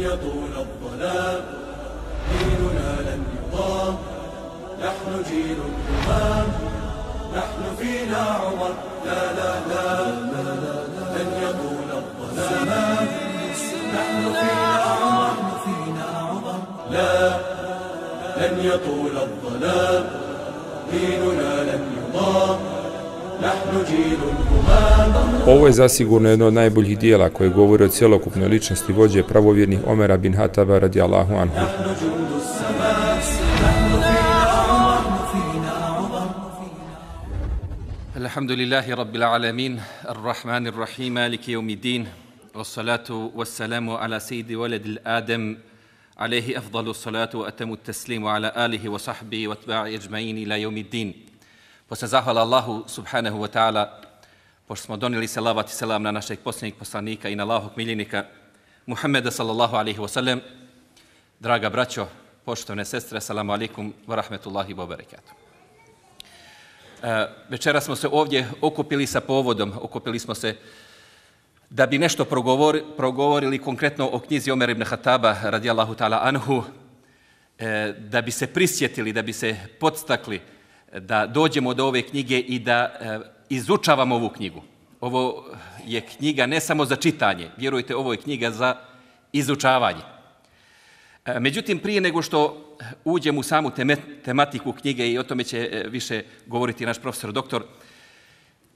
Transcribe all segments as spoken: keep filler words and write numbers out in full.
يطول الظلام ديننا لن يضام نحن جيل الأمام نحن فينا عمر لا لا لا لن يطول الظلام نحن فينا عمر لا لن يطول الظلام ديننا لن يضام نحن جيل الأمام. Ovo je zasigurno jedno od najboljih dijela koje govori o cjelokupnoj ličnosti vođe pravovjernih Omera bin Hataba radijallahu anhu. Alhamdulillahi rabbil alamin, ar-Rahmanir Rahim, maliki yawmiddin, wassalatu wassalamu ala sayyidi waladil Adam, alayhi afdalu salatu wa atamu taslimu ala alihi wa sahbihi wa atba'i ajma'in ila yawmiddin. Posle zahvala Allahu subhanahu wa ta'ala, pošto smo donijeli salavat i selam na našeg posljednjeg poslanika i na Allahog miljenika Muhammeda sallallahu alaihi wa sallam. Draga braćo, poštovane sestre, assalamu alaikum wa rahmetullahi wa barakatuh. Večera smo se ovdje okupili sa povodom, okupili smo se da bi nešto progovor, progovorili konkretno o knjizi Omer ibn Hataba radijallahu ta'ala anhu, da bi se prisjetili, da bi se podstakli da dođemo do ove knjige i da izučavamo ovu knjigu. Ovo je knjiga ne samo za čitanje, vjerujte, ovo je knjiga za izučavanje. Međutim, prije nego što uđem u samu tematiku knjige i o tome će više govoriti naš profesor doktor,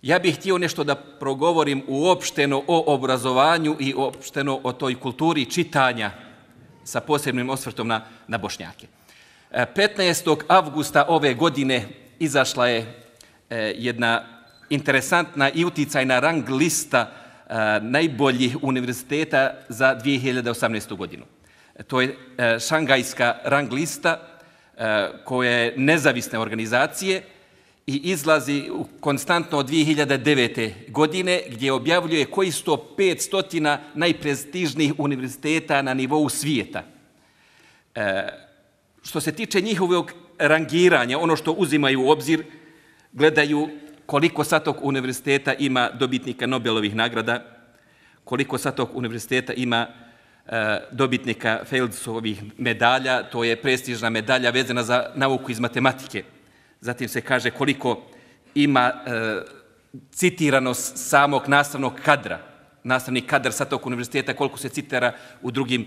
ja bih htio nešto da progovorim uopšteno o obrazovanju i uopšteno o toj kulturi čitanja sa posebnim osvrtom na, na Bošnjake. petnaestog avgusta ove godine izašla je jedna interesantna i uticajna rang lista najboljih univerziteta za dvije hiljade osamnaestu. godinu. To je šangajska rang lista koja je nezavisne organizacije i izlazi konstantno od dvije hiljade devete. godine gdje objavljuje koji su to petsto najprestižnijih univerziteta na nivou svijeta. Što se tiče njihovog rangiranja, ono što uzimaju u obzir, gledaju koliko sa tog univerziteta ima dobitnika Nobelovih nagrada, koliko sa tog univerziteta ima e, dobitnika Fieldsovih medalja, to je prestižna medalja vezana za nauku iz matematike. Zatim se kaže koliko ima e, citiranost samog nastavnog kadra, nastavni kadar sa tog univerziteta, koliko se citira u drugim,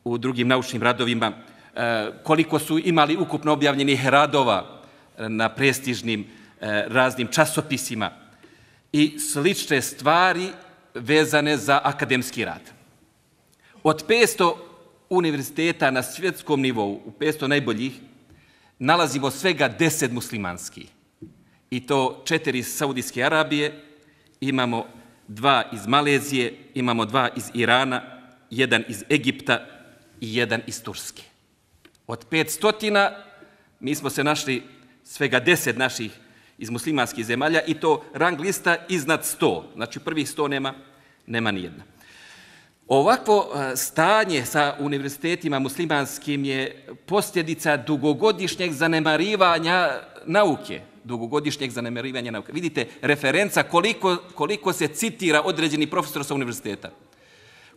u drugim naučnim radovima, e, koliko su imali ukupno objavljenih radova na prestižnim raznim časopisima i slične stvari vezane za akademski rad. Od petsto univerziteta na svjetskom nivou, u petsto najboljih, nalazimo svega deset muslimanskih. I to četiri iz Saudijske Arabije, imamo dva iz Malezije, imamo dva iz Irana, jedan iz Egipta i jedan iz Turske. Od petstotina mi smo se našli svega deset naših iz muslimanskih zemalja i to rang lista iznad sto. Znači prvih sto nema, nema nijedna. Ovakvo stanje sa univerzitetima muslimanskim je posljedica dugogodišnjeg zanemarivanja nauke. Dugogodišnjeg zanemarivanja nauke. Vidite, referenca koliko, koliko se citira određeni profesor sa univerziteta.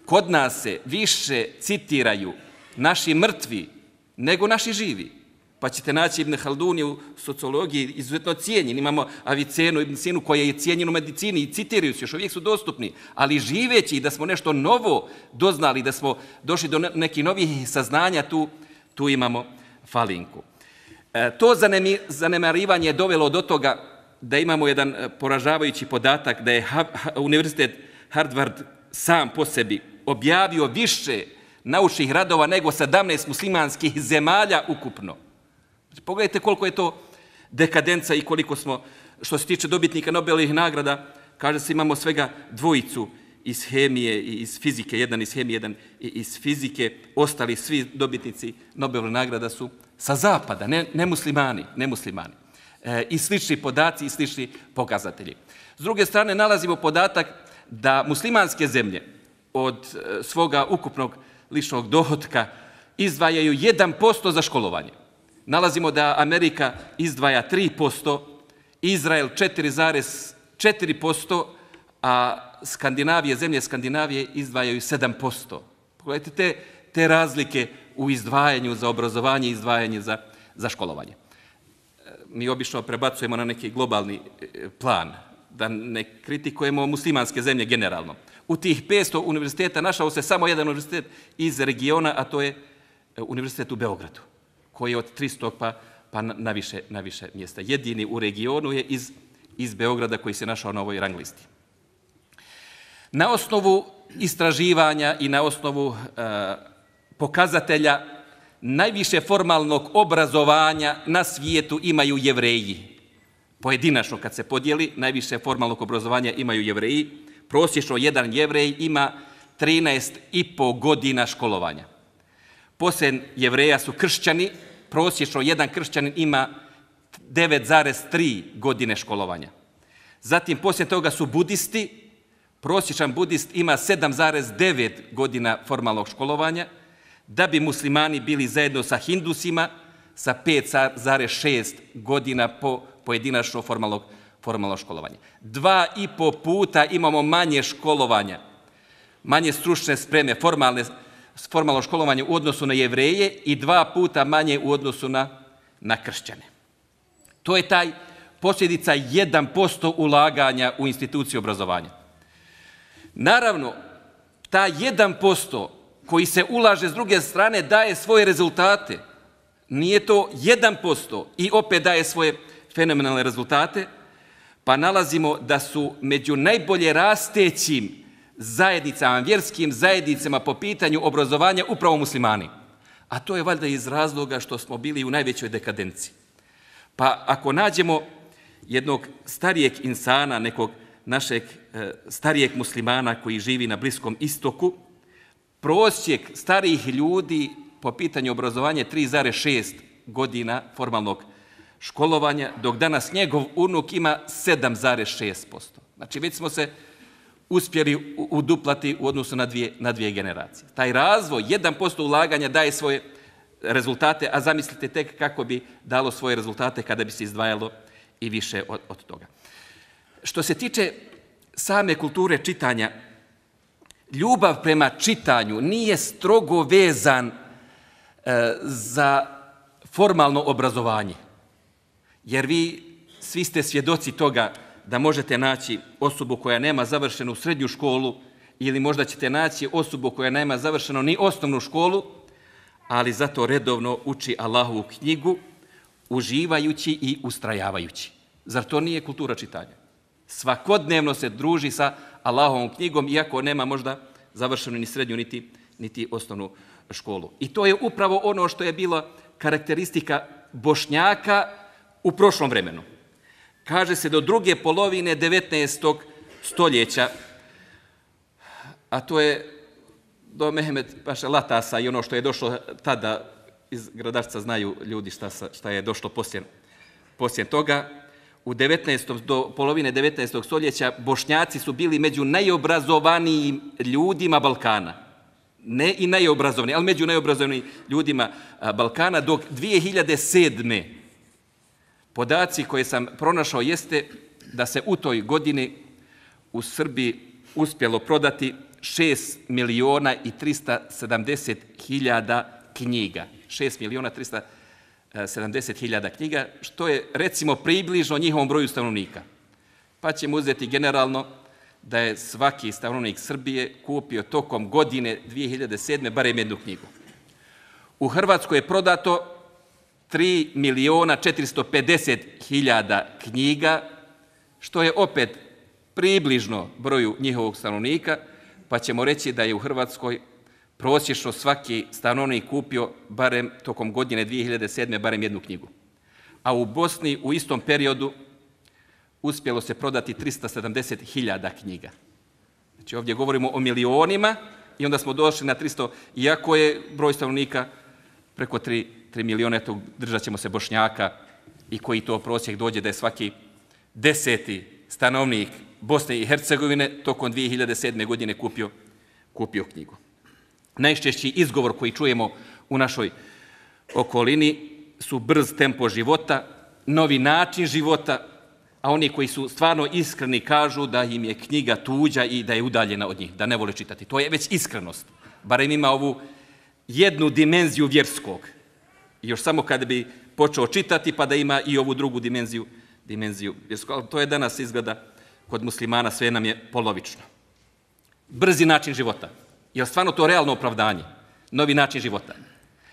Kod nas se više citiraju naši mrtvi nego naši živi. Pa ćete naći Ibn Halduni u sociologiji izuzetno cijenjen. Imamo Avicenu, Ibn Sinu koja je cijenjen u medicini i citiraju se, još uvijek su dostupni. Ali živeći da smo nešto novo doznali, da smo došli do nekih novih saznanja, tu, tu imamo falinku. E, to zanemarivanje je dovelo do toga da imamo jedan poražavajući podatak da je ha, ha, Univerzitet Harvard sam po sebi objavio više naučnih radova nego sedamnaest muslimanskih zemalja ukupno. Pogledajte koliko je to dekadenca i koliko smo, što se tiče dobitnika Nobelovih nagrada, kaže se imamo svega dvojicu iz hemije i iz fizike, jedan iz hemije, jedan iz fizike, ostali svi dobitnici Nobelovih nagrada su sa zapada, ne, ne muslimani, ne muslimani. E, I slični podaci i slični pokazatelji. S druge strane, nalazimo podatak da muslimanske zemlje od svoga ukupnog ličnog dohotka izdvajaju jedan posto za školovanje. Nalazimo da Amerika izdvaja tri posto, Izrael četiri zarez četiri posto, a Skandinavije, zemlje Skandinavije izdvajaju sedam posto. Pogledajte te, te razlike u izdvajanju za obrazovanje i izdvajanje za, za školovanje. Mi obično prebacujemo na neki globalni plan, da ne kritikujemo muslimanske zemlje generalno. U tih petsto univerziteta našao se samo jedan univerzitet iz regiona, a to je univerzitet u Beogradu, koji je od tristo pa, pa na, više, na više mjesta. Jedini u regionu je iz, iz Beograda koji se našao na ovoj rang listi. Na osnovu istraživanja i na osnovu uh, pokazatelja najviše formalnog obrazovanja na svijetu imaju Jevreji. Pojedinačno kad se podijeli, najviše formalnog obrazovanja imaju Jevreji. Prosječno jedan Jevrej ima trinaest i po godina školovanja. Poslije Jevreja su kršćani, prosječno jedan kršćanin ima devet zarez tri godine školovanja. Zatim poslije toga su budisti, prosječan budist ima sedam zarez devet godina formalnog školovanja, da bi muslimani bili zajedno sa hindusima sa pet zarez šest godina po pojedinačno formalnog, formalnog školovanja. Dva i po puta imamo manje školovanja, manje stručne spreme, formalne, formalno školovanje u odnosu na Jevreje i dva puta manje u odnosu na, na kršćane. To je taj posljedica jedan posto ulaganja u instituciju obrazovanja. Naravno, ta jedan posto koji se ulaže s druge strane daje svoje rezultate. Nije to jedan posto i opet daje svoje fenomenalne rezultate, pa nalazimo da su među najbolje rastećim zajednicama, vjerskim zajednicama po pitanju obrazovanja upravo muslimani. A to je valjda iz razloga što smo bili u najvećoj dekadenciji. Pa ako nađemo jednog starijeg insana, nekog našeg e, starijeg muslimana koji živi na Bliskom istoku, prosjek starijih ljudi po pitanju obrazovanja je tri zarez šest godina formalnog školovanja, dok danas njegov unuk ima sedam zarez šest posto. Znači, već smo se uspjeli uduplati u odnosu na dvije, na dvije generacije. Taj razvoj, jedan posto ulaganja daje svoje rezultate, a zamislite tek kako bi dalo svoje rezultate kada bi se izdvajalo i više od, od toga. Što se tiče same kulture čitanja, ljubav prema čitanju nije strogo vezan e, za formalno obrazovanje. Jer vi svi ste svjedoci toga da možete naći osobu koja nema završenu srednju školu ili možda ćete naći osobu koja nema završenu ni osnovnu školu, ali zato redovno uči Allahovu knjigu, uživajući i ustrajavajući. Zar to nije kultura čitanja? Svakodnevno se druži sa Allahovom knjigom, iako nema možda završenu ni srednju, niti, niti osnovnu školu. I to je upravo ono što je bila karakteristika Bošnjaka u prošlom vremenu. Kaže se do druge polovine devetnaestog stoljeća, a to je do Mehmed Paše Latasa i ono što je došlo tada iz Gradarca, znaju ljudi šta, šta je došlo poslije, poslije toga. U devetnaestom do polovine devetnaestog stoljeća Bošnjaci su bili među najobrazovanijim ljudima Balkana. Ne i najobrazovaniji, ali među najobrazovanijim ljudima Balkana, dok dvije hiljade sedme podaci koje sam pronašao jeste da se u toj godini u Srbiji uspjelo prodati šest miliona i trista sedamdeset hiljada knjiga. šest miliona trista sedamdeset hiljada knjiga, što je recimo približno njihovom broju stanovnika. Pa ćemo uzeti generalno da je svaki stanovnik Srbije kupio tokom godine dvije hiljade sedme barem jednu knjigu. U Hrvatskoj je prodato tri miliona četiristo pedeset hiljada knjiga, što je opet približno broju njihovog stanovnika, pa ćemo reći da je u Hrvatskoj prosječno svaki stanovnik kupio barem tokom godine dvije hiljade sedme barem jednu knjigu. A u Bosni u istom periodu uspjelo se prodati trista sedamdeset hiljada knjiga. Znači ovdje govorimo o milionima i onda smo došli na tristo, iako je broj stanovnika preko tri miliona, eto držat ćemo se Bošnjaka i koji to prosjek dođe da je svaki deseti stanovnik Bosne i Hercegovine tokom dvije hiljade sedme godine kupio, kupio knjigu. Najčešći izgovor koji čujemo u našoj okolini su brz tempo života, novi način života, a oni koji su stvarno iskreni kažu da im je knjiga tuđa i da je udaljena od njih, da ne vole čitati. To je već iskrenost. Barem ima ovu jednu dimenziju vjerskog. Još samo kada bi počeo čitati pa da ima i ovu drugu dimenziju, dimenziju vjerskog. Ali to je danas izgleda kod muslimana, sve nam je polovično. Brzi način života. Je li stvarno to realno opravdanje? Novi način života.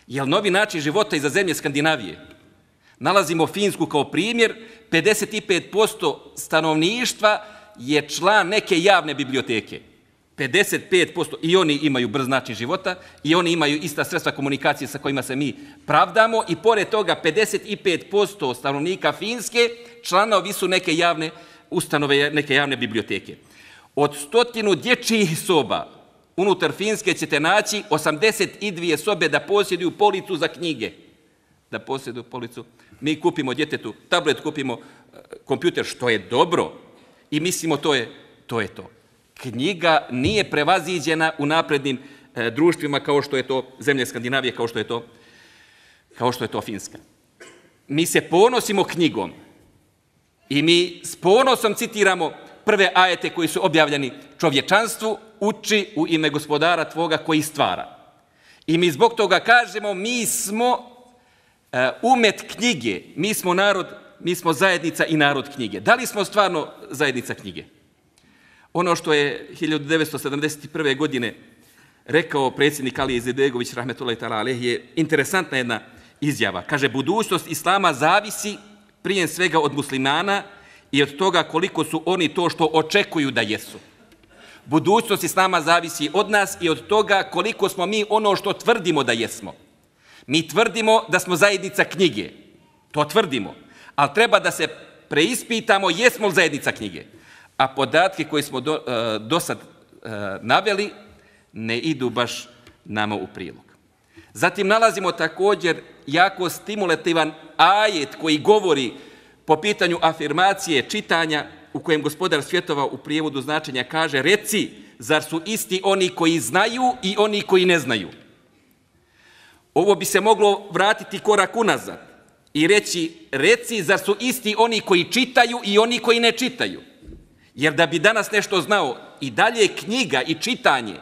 Je li novi način života i za zemlje Skandinavije? Nalazimo Finsku kao primjer, pedeset pet posto stanovništva je član neke javne biblioteke. pedeset pet posto i oni imaju brz način života i oni imaju ista sredstva komunikacije sa kojima se mi pravdamo i pored toga pedeset pet posto stanovnika Finske članovi su neke javne ustanove, neke javne biblioteke. Od stotinu dječjih soba unutar Finske ćete naći osamdeset dvije sobe da posjeduju policu za knjige. Da posjeduju policu. Mi kupimo djetetu tablet, kupimo kompjuter, što je dobro i mislimo to je to. Je to. Knjiga nije prevaziđena u naprednim e, društvima kao što je to zemlje Skandinavije, kao što je to, kao što je to Finska. Mi se ponosimo knjigom i mi s ponosom citiramo prve ajete koji su objavljeni: čovječanstvu uči u ime gospodara tvoga koji stvara. I mi zbog toga kažemo mi smo e, umet knjige, mi smo narod, mi smo zajednica i narod knjige. Da li smo stvarno zajednica knjige? Ono što je hiljadu devetsto sedamdeset prve. godine rekao predsjednik Ali Izetbegović rahmetullahi ta'ala alejhi je interesantna jedna izjava. Kaže, budućnost islama zavisi prije svega od muslimana i od toga koliko su oni to što očekuju da jesu. Budućnost islama zavisi od nas i od toga koliko smo mi ono što tvrdimo da jesmo. Mi tvrdimo da smo zajednica knjige. To tvrdimo. Ali treba da se preispitamo jesmo li zajednica knjige. A podatke koje smo do, do sad naveli ne idu baš nama u prilog. Zatim nalazimo također jako stimulativan ajet koji govori po pitanju afirmacije čitanja u kojem gospodar svjetova u prijevodu značenja kaže: reci, zar su isti oni koji znaju i oni koji ne znaju? Ovo bi se moglo vratiti korak unazad i reći: reci, zar su isti oni koji čitaju i oni koji ne čitaju? Jer da bi danas nešto znao, i dalje knjiga i čitanje,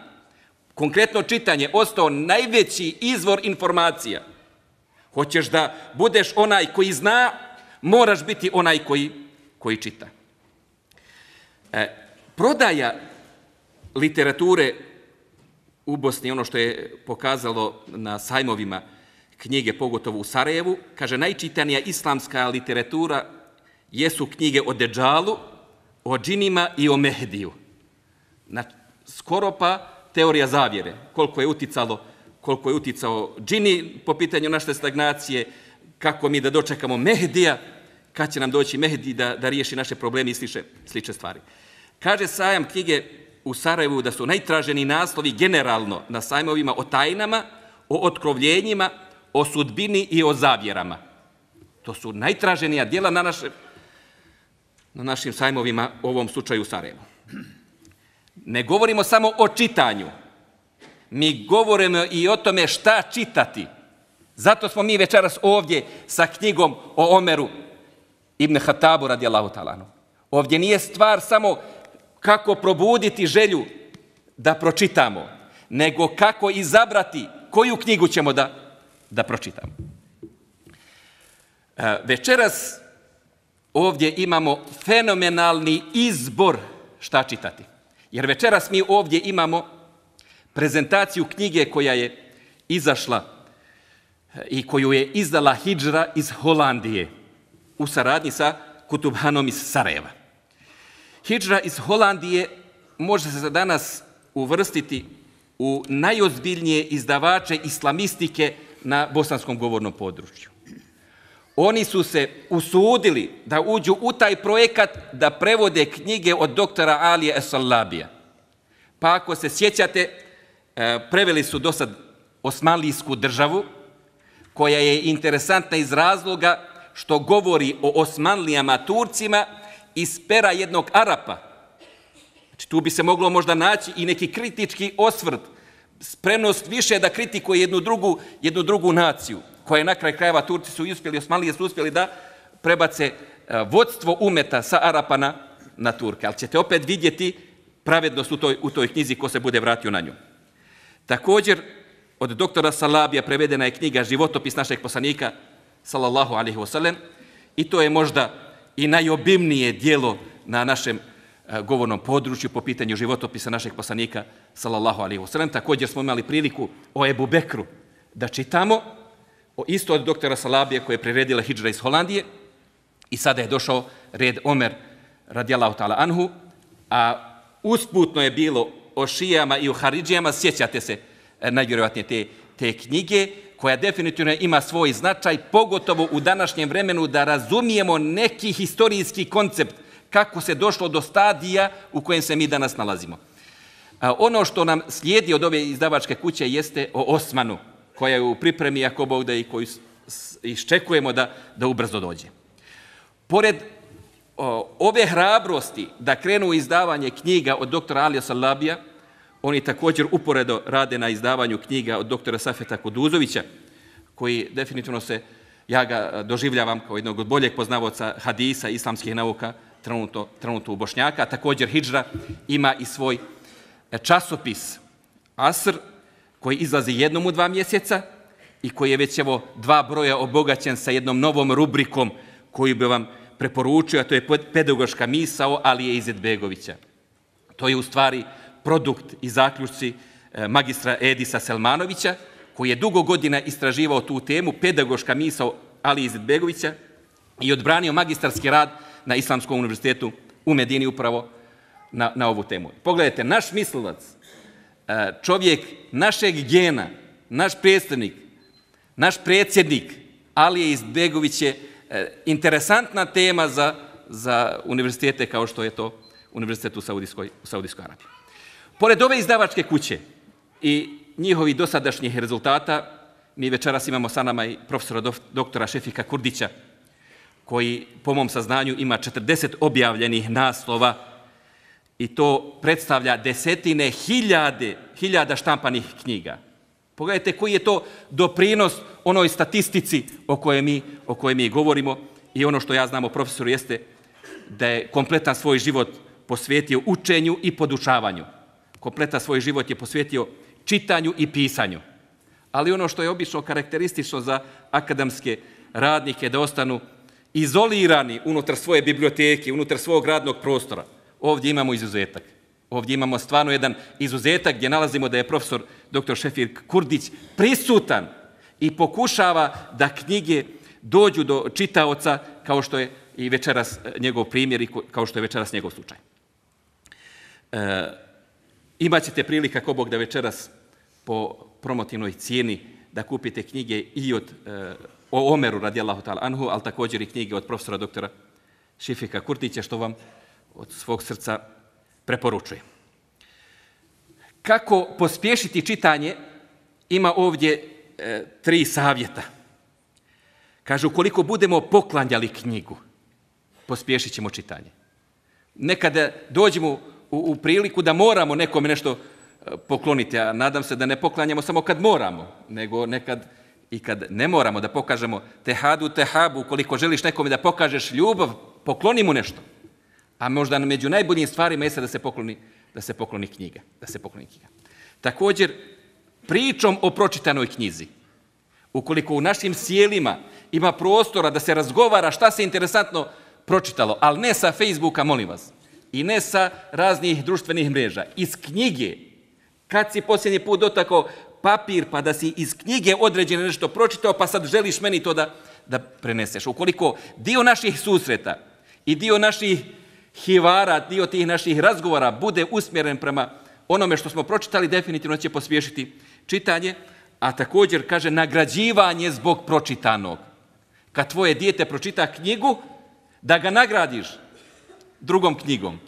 konkretno čitanje, ostao najveći izvor informacija. Hoćeš da budeš onaj koji zna, moraš biti onaj koji, koji čita. E, prodaja literature u Bosni, ono što je pokazalo na sajmovima knjige, pogotovo u Sarajevu, kaže, najčitanija islamska literatura jesu knjige o Dedžalu, o džinima i o Mehdiju. Na, skoro pa teorija zavjere, koliko je uticalo, koliko je uticao džini po pitanju naše stagnacije, kako mi da dočekamo Mehdija, kad će nam doći Mehdi da, da riješi naše probleme i sliče, sliče stvari. Kaže sajam knjige u Sarajevu da su najtraženi naslovi generalno na sajmovima o tajnama, o otkrovljenjima, o sudbini i o zavjerama. To su najtraženija djela na, naše, na našim sajmovima, u ovom slučaju u Sarajevu. Ne govorimo samo o čitanju. Mi govorimo i o tome šta čitati. Zato smo mi večeras ovdje sa knjigom o Omeru ibn Hatabu radijallahu ta'ala. Ovdje nije stvar samo kako probuditi želju da pročitamo, nego kako izabrati koju knjigu ćemo da, da pročitamo. Večeras ovdje imamo fenomenalni izbor šta čitati. Jer večeras mi ovdje imamo prezentaciju knjige koja je izašla i koju je izdala Hidžra iz Holandije u saradnji sa Kutubhanom iz Sarajeva. Hidžra iz Holandije može se za danas uvrstiti u najozbiljnije izdavače islamistike na bosanskom govornom području. Oni su se usudili da uđu u taj projekat da prevode knjige od doktora Alije Es-Salabija. Pa ako se sjećate, preveli su do sad Osmanlijsku državu, koja je interesantna iz razloga što govori o Osmanlijama Turcima iz pera jednog Arapa. Znači, tu bi se moglo možda naći i neki kritički osvrt, spremnost više da kritikuje jednu drugu, jednu drugu naciju, koja je na kraj krajeva Turci su uspjeli, Osmanlije su uspjeli da prebace vodstvo umeta sa Arapa na, na Turke. Ali ćete opet vidjeti pravednost u toj, u toj knjizi ko se bude vratio na nju. Također, od doktora Salabija prevedena je knjiga Životopis našeg poslanika, sallallahu alaihi wasallam, i to je možda i najobimnije dijelo na našem govornom području po pitanju životopisa našeg poslanika, sallallahu alaihi wasallam. Također smo imali priliku o Ebu Bekru da čitamo, o isto od doktora Salabija koje je priredila hidžra iz Holandije, i sada je došao red Omer radijallahu ta'ala anhu, a usputno je bilo o šijama i o haridžijama, sjećate se najvjerojatnije te, te knjige, koja definitivno ima svoj značaj, pogotovo u današnjem vremenu da razumijemo neki historijski koncept kako se došlo do stadija u kojem se mi danas nalazimo. A ono što nam slijedi od ove izdavačke kuće jeste o Osmanu, koja je u pripremi, ako Bog da, i koju iščekujemo da, da ubrzo dođe. Pored o, ove hrabrosti da krenu u izdavanje knjiga od doktora Alija Salabija, oni također uporedo rade na izdavanju knjiga od doktora Safeta Kuduzovića, koji definitivno se, ja ga doživljavam kao jednog od boljeg poznavaoca hadisa, islamskih nauka, trenutno, trenutno u Bošnjaka. Također hidžra ima i svoj časopis Asr, koji izlazi jednom u dva mjeseca i koji je već evo dva broja obogaćen sa jednom novom rubrikom koju bi vam preporučio, a to je pedagoška misao Alije Izetbegovića. To je u stvari produkt i zaključci magistra Edisa Selmanovića, koji je dugo godina istraživao tu temu, pedagoška misao Alije Izetbegovića, i odbranio magistarski rad na Islamskom univerzitetu u Medini upravo na, na ovu temu. Pogledajte, naš mislilac, čovjek našeg gena, naš predstavnik, naš predsjednik Alije Izetbegović je interesantna tema za, za univerzitete kao što je to univerzitet u Saudijskoj, u Saudijskoj Arabiji. Pored ove izdavačke kuće i njihovih dosadašnjih rezultata, mi večeras imamo sa nama i profesora doktora Šefika Kurdića, koji po mom saznanju ima četrdeset objavljenih naslova i to predstavlja desetine hiljade, hiljada štampanih knjiga. Pogledajte koji je to doprinos onoj statistici o kojoj mi, o kojoj mi govorimo, i ono što ja znam o profesoru jeste da je kompletan svoj život posvetio učenju i podučavanju. Kompletan svoj život je posvetio čitanju i pisanju. Ali ono što je obično karakteristično za akademske radnike da ostanu izolirani unutar svoje biblioteke, unutar svog radnog prostora, ovdje imamo izuzetak. Ovdje imamo stvarno jedan izuzetak gdje nalazimo da je profesor doktor Šefik Kurdić prisutan i pokušava da knjige dođu do čitaoca kao što je i večeras njegov primjer i kao što je večeras njegov slučaj. E, imaćete prilika, ako Bog da, večeras po promotivnoj cijeni da kupite knjige i od e, o Omeru radijallahu ta'ala anhu, ali također i knjige od profesora doktora Šefika Kurdića, što vam od svog srca preporučujem. Kako pospješiti čitanje? Ima ovdje e, tri savjeta. Kaže, ukoliko budemo poklanjali knjigu, pospješit ćemo čitanje. Nekada dođemo u, u priliku da moramo nekome nešto pokloniti, a nadam se da ne poklanjamo samo kad moramo, nego nekad i kad ne moramo, da pokažemo tehadu, tehabu. Ukoliko želiš nekome da pokažeš ljubav, pokloni mu nešto. A možda među najboljim stvarima jeste da se pokloni, da se pokloni knjiga. Da se pokloni knjiga. Također, pričom o pročitanoj knjizi. Ukoliko u našim sjelima ima prostora da se razgovara šta se interesantno pročitalo, ali ne sa Facebooka, molim vas, i ne sa raznih društvenih mreža, iz knjige. Kad si posljednji put dotakao papir pa da si iz knjige određeno nešto pročitao, pa sad želiš meni to da, da preneseš. Ukoliko dio naših susreta i dio naših hivara, dio tih naših razgovora bude usmjeren prema onome što smo pročitali, definitivno će pospješiti čitanje, a također, kaže, nagrađivanje zbog pročitanog. Kad tvoje dijete pročita knjigu, da ga nagradiš drugom knjigom,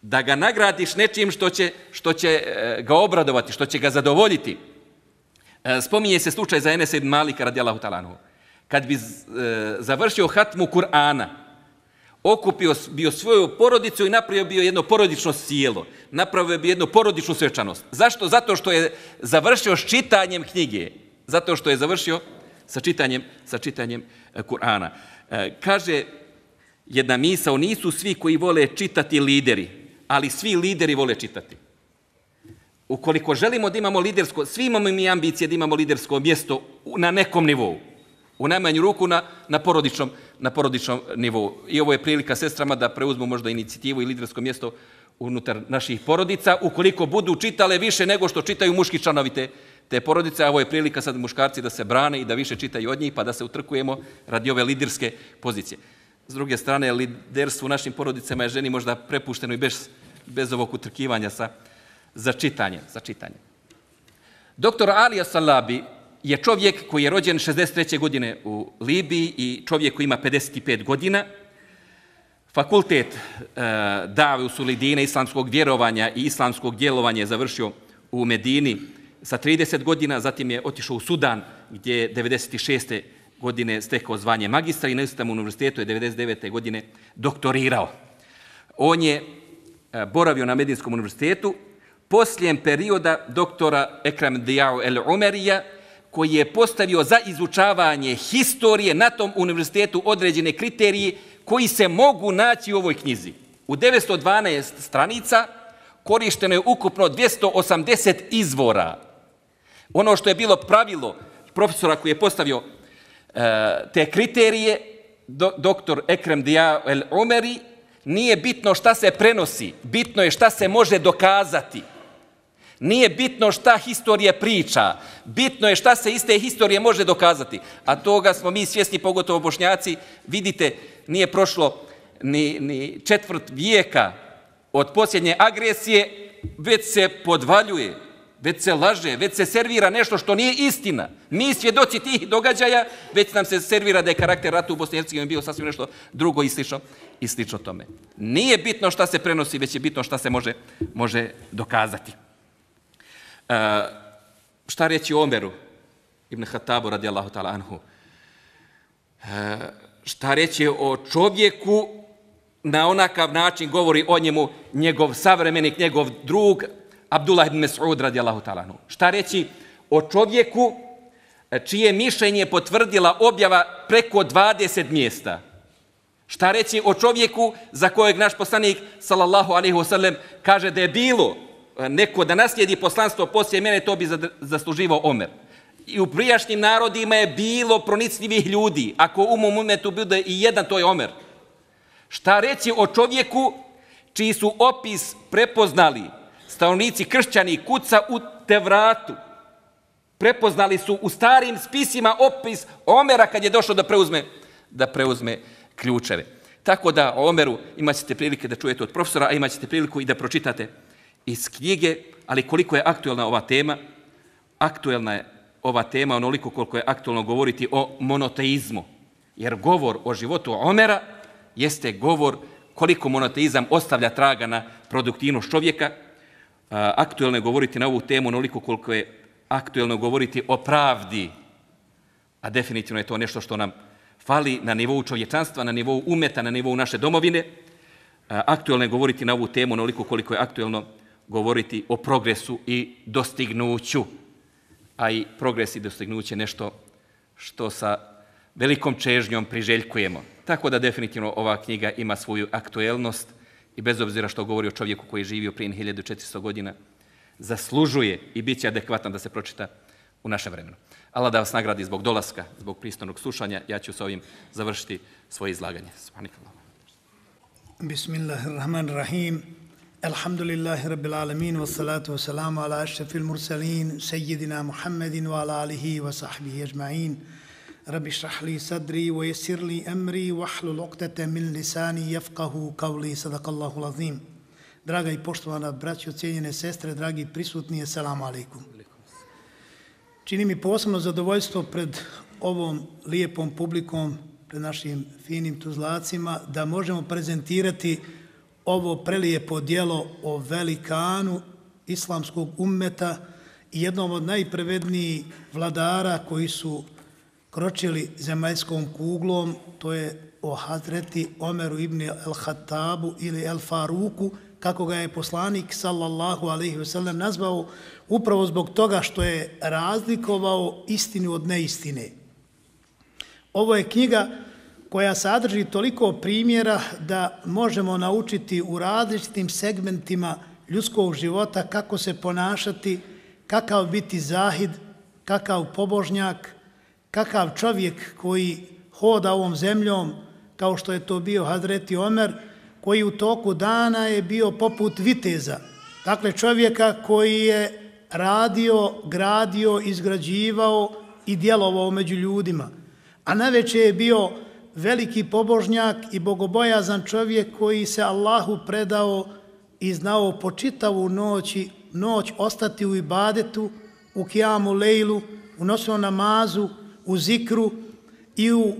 da ga nagradiš nečim što će, što će ga obradovati, što će ga zadovoljiti. Spominje se slučaj za Enesa ibn Malika radijallahu ta'ala anhu. Kad bi završio hatmu Kur'ana, okupio bio svoju porodicu i napravio bio jedno porodično sjelo. Napravio bi jednu porodičnu svečanost. Zašto? Zato što je završio s čitanjem knjige. Zato što je završio sa čitanjem, sa čitanjem Kur'ana. Kaže jedna misao, nisu svi koji vole čitati lideri, ali svi lideri vole čitati. ukoliko želimo da imamo lidersko, svi imamo mi ambicije da imamo lidersko mjesto na nekom nivou, u najmanju ruku na, na, porodičnom, na porodičnom nivou. I ovo je prilika sestrama da preuzmu možda inicijativu i lidersko mjesto unutar naših porodica, ukoliko budu čitale više nego što čitaju muški članovi te, te porodice, a ovo je prilika sad muškarci da se brane i da više čitaju od njih, pa da se utrkujemo radi ove liderske pozicije. S druge strane, liderstvo u našim porodicama je ženi možda prepušteno i bez, bez ovog utrkivanja sa, za čitanje. Za čitanje. Doktor Ali As-Salabi je čovjek koji je rođen šezdeset treće godine u Libiji i čovjek koji ima pedeset pet godina. Fakultet e, Dave u Sulidine, islamskog vjerovanja i islamskog djelovanja je završio u Medini sa trideset godina, zatim je otišao u Sudan gdje je devedeset šeste godine stekao zvanje magistra i na istom univerzitetu je devedeset devete godine doktorirao. On je e, boravio na Medinskom univerzitetu poslije perioda doktora Ekrem Dijau el-Umerija, koji je postavio za izučavanje historije na tom univerzitetu određene kriterije koji se mogu naći u ovoj knjizi. U devetsto dvanaest stranica korišteno je ukupno dvjesto osamdeset izvora. Ono što je bilo pravilo profesora koji je postavio e, te kriterije, do, doktor Ekrem Dijau el-Umeri, nije bitno šta se prenosi, bitno je šta se može dokazati. Nije bitno šta historija priča, bitno je šta se iz te historije može dokazati. A toga smo mi svjesni, pogotovo Bošnjaci, vidite, nije prošlo ni, ni četvrt vijeka od posljednje agresije, već se podvaljuje, već se laže, već se servira nešto što nije istina. Mi svjedoci tih događaja, već nam se servira da je karakter rata u Bosni i Hercegovini bio sasvim nešto drugo i slično, i slično tome. Nije bitno šta se prenosi, već je bitno šta se može, može dokazati. Uh, šta reći o Omeru ibn Hatabu radijallahu ta'ala anhu? Uh, šta reći o čovjeku, na onakav način govori o njemu njegov savremenik, njegov drug Abdullah ibn Mas'ud radijallahu ta'ala anhu. Šta reći o čovjeku čije mišljenje potvrdila objava preko dvadeset mjesta? Šta reći o čovjeku za kojeg naš poslanik sallallahu alejhi ve sellem kaže da je bilo neko da naslijedi poslanstvo poslije mene, to bi zasluživao Omer. I u prijašnjim narodima je bilo pronicljivih ljudi. Ako u mom umetu bude i jedan, to je Omer. Šta reći o čovjeku čiji su opis prepoznali stanovnici kršćani kuca u Tevratu? Prepoznali su u starim spisima opis Omera kad je došao da preuzme, da preuzme ključeve. Tako da o Omeru imat ćete prilike da čujete od profesora, a imat ćete priliku i da pročitate iz knjige, ali koliko je aktuelna ova tema, aktuelna je ova tema onoliko koliko je aktuelno govoriti o monoteizmu. Jer govor o životu Omera jeste govor koliko monoteizam ostavlja traga na produktivnost čovjeka. Aktuelno je govoriti na ovu temu onoliko koliko je aktuelno govoriti o pravdi, a definitivno je to nešto što nam fali na nivou čovječanstva, na nivou umeta, na nivou naše domovine. Aktuelno je govoriti na ovu temu onoliko koliko je aktuelno govoriti o progresu i dostignuću. A i progres i dostignuće nešto što sa velikom čežnjom priželjkujemo. Tako da definitivno ova knjiga ima svoju aktuelnost i bez obzira što govori o čovjeku koji je živio prije hiljadu četiristo godina, zaslužuje i bit će adekvatan da se pročita u našem vremenu. Allah da vas nagradi zbog dolaska, zbog pristojnog slušanja. Ja ću s ovim završiti svoje izlaganje. Subhanakallah. Bismillahirrahmanirrahim. Alhamdulillahi rabbil alamin, wassalatu wassalamu ala ashrafil mursalin, sayyidina Muhammedin wa ala alihi wa sahbihi ajma'in. Rabbi shrah li sadri wa yassir li amri wahlul uqdatan min lisani yafqahu qawli. Sadaqallahu azim. Draga i poštovana braćo, cijenjene sestre, dragi prisutni, assalamu alaikum. Čini mi posebno zadovoljstvo pred ovom lijepom publikom, pred našim finim tuzlacima, da možemo prezentirati ovo prelijepo djelo o velikanu islamskog ummeta i jednom od najprevednijih vladara koji su kročili zemaljskom kuglom, to je o Hazreti Omeru ibn al-Hattabu ili al-Faruku, kako ga je poslanik sallallahu alejhi ve sellem nazvao, upravo zbog toga što je razlikovao istinu od neistine. Ovo je knjiga koja sadrži toliko primjera da možemo naučiti u različitim segmentima ljudskog života, kako se ponašati, kakav biti zahid, kakav pobožnjak, kakav čovjek koji hoda ovom zemljom, kao što je to bio Hazreti Omer, koji u toku dana je bio poput viteza. Dakle, čovjeka koji je radio, gradio, izgrađivao i djelovao među ljudima. A navečer je bio veliki pobožnjak i bogobojazan čovjek koji se Allahu predao i znao po čitavu noć, noć ostati u ibadetu, u kijamu lejlu, u noćnom namazu, u zikru i u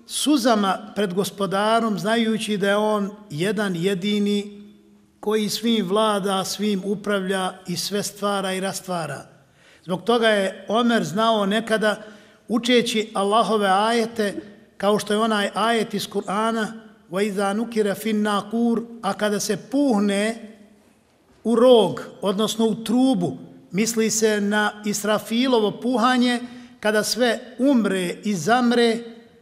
suzama pred gospodarom, znajući da je on jedan jedini koji svim vlada, svim upravlja i sve stvara i rastvara. Zbog toga je Omer znao nekada, učeći Allahove ajete, kao što je onaj ajet iz Kur'ana, وَإِذَا نُكِرَ فِي النَّاقُورِ, a kada se puhne u rog, odnosno u trubu, misli se na Israfilovo puhanje, kada sve umre i zamre,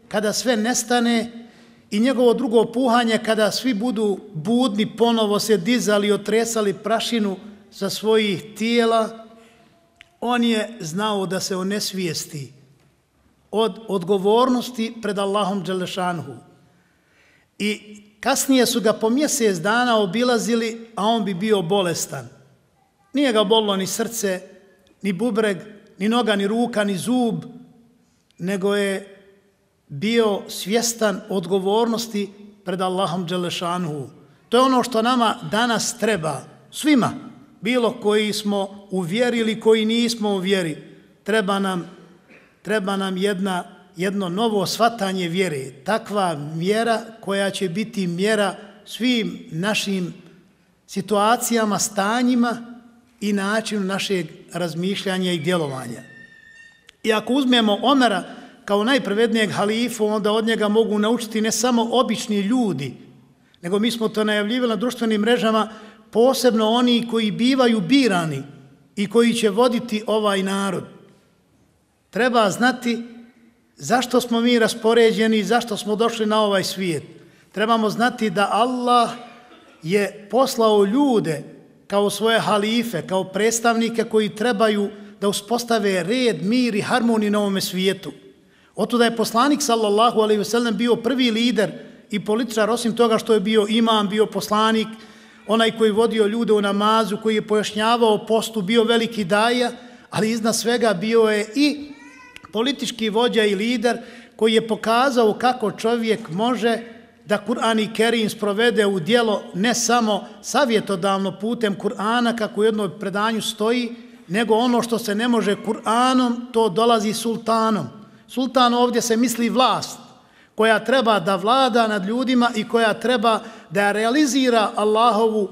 kada sve nestane, i njegovo drugo puhanje, kada svi budu budni, ponovo se dizali, otresali prašinu sa svojih tijela, on je znao da se onesvijesti od odgovornosti pred Allahom Đelešanhu. I kasnije su ga po mjesec dana obilazili, a on bi bio bolestan. Nije ga bolilo ni srce, ni bubreg, ni noga, ni ruka, ni zub, nego je bio svjestan odgovornosti pred Allahom Đelešanhu. To je ono što nama danas treba, svima, bilo koji smo u vjeri ili koji nismo u vjeri. Treba nam, treba nam jedna, jedno novo shvatanje vjere, takva mjera koja će biti mjera svim našim situacijama, stanjima i načinu našeg razmišljanja i djelovanja. I ako uzmemo Omera kao najpravednijeg halifu, onda od njega mogu naučiti ne samo obični ljudi, nego mi smo to najavljivali na društvenim mrežama, posebno oni koji bivaju birani i koji će voditi ovaj narod. Treba znati zašto smo mi raspoređeni i zašto smo došli na ovaj svijet. Trebamo znati da Allah je poslao ljude kao svoje halife, kao predstavnike koji trebaju da uspostave red, mir i harmoniju na ovome svijetu. Otuda je poslanik sallallahu alejhi ve sellem bio prvi lider i političar, osim toga što je bio imam, bio poslanik, onaj koji vodio ljude u namazu, koji je pojašnjavao postu, bio veliki daja, ali iznad svega bio je i politički vođa i lider koji je pokazao kako čovjek može da Kur'an i Kerim sprovede u djelo ne samo savjetodavno putem Kur'ana, kako u jednom predanju stoji, nego ono što se ne može Kur'anom, to dolazi sultanom. Sultan ovdje se misli vlast, koja treba da vlada nad ljudima i koja treba da realizira Allahovu,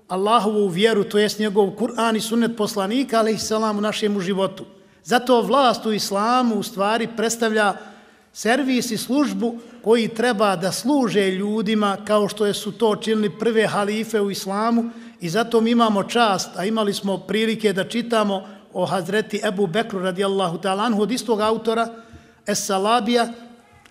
Allahovu vjeru, to jest njegov Kur'an i sunnet poslanika, alejhi selam, u našem životu. Zato vlast u islamu u stvari predstavlja servis i službu koji treba da služe ljudima kao što su to činili prve halife u islamu, i zato mi imamo čast, a imali smo prilike da čitamo o Hazreti Ebu Bekru radijallahu ta'ala anhu od istog autora, Es-Salabija,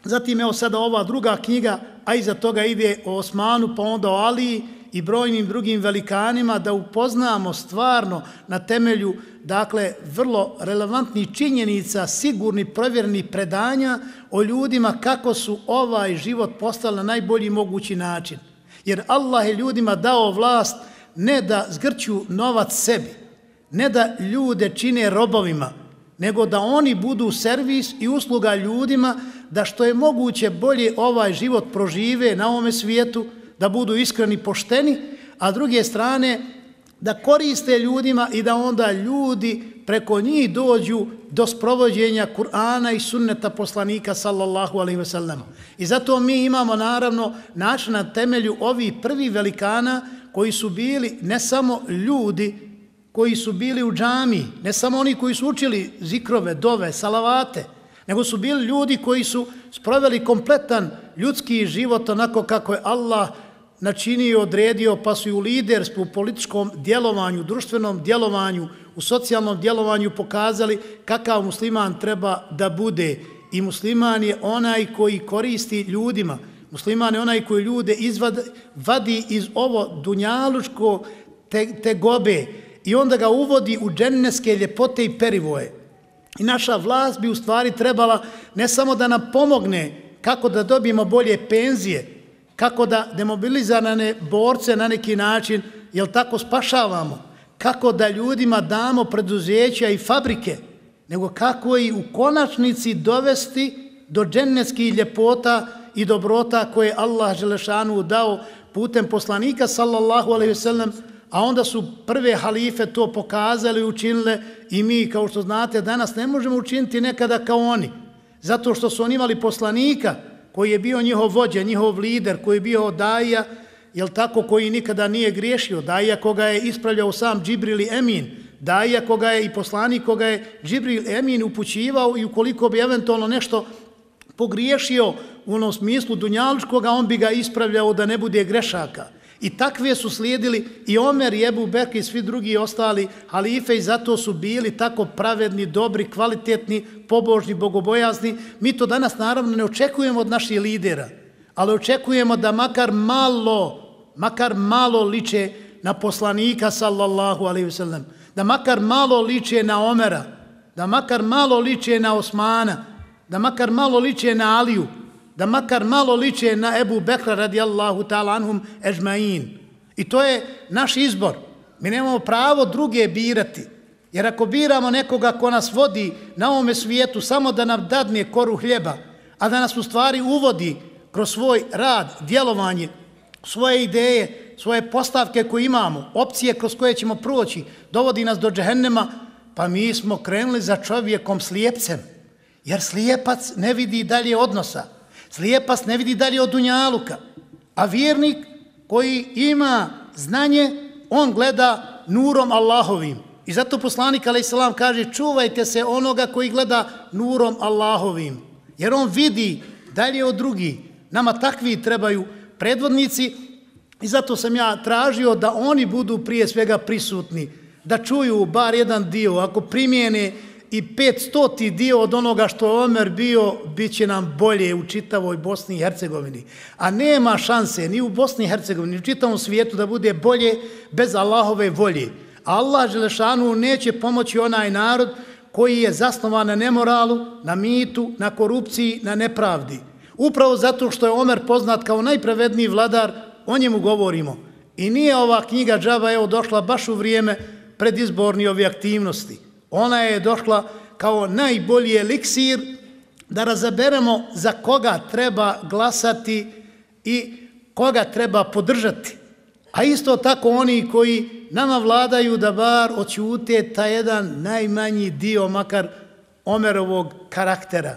zatim evo sada ova druga knjiga, a iza toga ide o Osmanu, pa onda o Aliji i brojnim drugim velikanima, da upoznamo stvarno na temelju, dakle, vrlo relevantnih činjenica, sigurni, provjereni predanja o ljudima kako su ovaj život postali na najbolji mogući način. Jer Allah je ljudima dao vlast ne da zgrću novac sebi, ne da ljude čine robovima, nego da oni budu servis i usluga ljudima, da što je moguće bolje ovaj život prožive na ovome svijetu, da budu iskreni, pošteni, a s druge strane da koriste ljudima i da onda ljudi preko njih dođu do sprovođenja Kur'ana i sunneta poslanika sallallahu alejhi ve sellem. I zato mi imamo naravno način na temelju ovih prvih velikana koji su bili ne samo ljudi koji su bili u džami, ne samo oni koji su učili zikrove, dove, salavate, nego su bili ljudi koji su sproveli kompletan ljudski život onako kako je Allah načinio i odredio, pa su i u liderstvu, u političkom djelovanju, društvenom djelovanju, u socijalnom djelovanju pokazali kakav musliman treba da bude. I musliman je onaj koji koristi ljudima. Musliman je onaj koji ljude izvadi, vadi iz ovo dunjalučko te, te gobe i onda ga uvodi u dženneske ljepote i perivoje. I naša vlast bi u stvari trebala ne samo da nam pomogne kako da dobijemo bolje penzije, kako da demobilizirane borce na neki način, jel tako, spašavamo, kako da ljudima damo preduzeća i fabrike, nego kako i u konačnici dovesti do džennetskih ljepota i dobrota koje Allah Želešanu dao putem poslanika sallallahu alejhi ve sellem, a onda su prve halife to pokazali i učinile i mi, kao što znate, danas ne možemo učiniti nekada kao oni, zato što su oni imali poslanika koji je bio njihov vođa, njihov lider, koji je bio daija, jel tako, koji nikada nije griješio, daija koga je ispravljao sam Džibril Emin, daija koga je i poslanik koga je Džibril Emin upućivao i ukoliko bi eventualno nešto pogriješio u onom smislu dunjalučkoga, on bi ga ispravljao da ne bude grešaka. I takve su slijedili i Omer i Ebu Bekr i svi drugi ostali halife i zato su bili tako pravedni, dobri, kvalitetni, pobožni, bogobojazni. Mi to danas naravno ne očekujemo od naših lidera, ali očekujemo da makar malo, makar malo liče na poslanika sallallahu alejhi ve sellem, da makar malo liče na Omera, da makar malo liče na Osmana, da makar malo liče na Aliju, da makar malo liče na Ebu Bekra radijallahu ta'ala anhum ejmain. I to je naš izbor. Mi nemamo pravo druge birati. Jer ako biramo nekoga ko nas vodi na ovome svijetu samo da nam dadne koru hljeba, a da nas u stvari uvodi kroz svoj rad, djelovanje, svoje ideje, svoje postavke koje imamo, opcije kroz koje ćemo proći, dovodi nas do džehennema, pa mi smo krenuli za čovjekom slijepcem. Jer slijepac ne vidi dalje odnosa. Slijepac ne vidi dalje od dunjaluka. A vjernik koji ima znanje, on gleda nurom Allahovim. I zato poslanik alejselam kaže čuvajte se onoga koji gleda nurom Allahovim. Jer on vidi dalje od drugih. Nama takvi trebaju predvodnici i zato sam ja tražio da oni budu prije svega prisutni. Da čuju bar jedan dio. Ako primijene i petstoti dio od onoga što je Omer bio, bit će nam bolje u čitavoj Bosni i Hercegovini. A nema šanse ni u Bosni i Hercegovini, ni u čitavom svijetu da bude bolje bez Allahove volje. Allah Želešanu neće pomoći onaj narod koji je zasnovan na nemoralu, na mitu, na korupciji, na nepravdi. Upravo zato što je Omer poznat kao najpravedniji vladar, o njemu govorimo. I nije ova knjiga džaba evo došla baš u vrijeme predizborni ove aktivnosti. Ona je došla kao najbolji eliksir da razaberemo za koga treba glasati i koga treba podržati. A isto tako oni koji nama vladaju da bar oćute taj jedan najmanji dio makar Omerovog karaktera.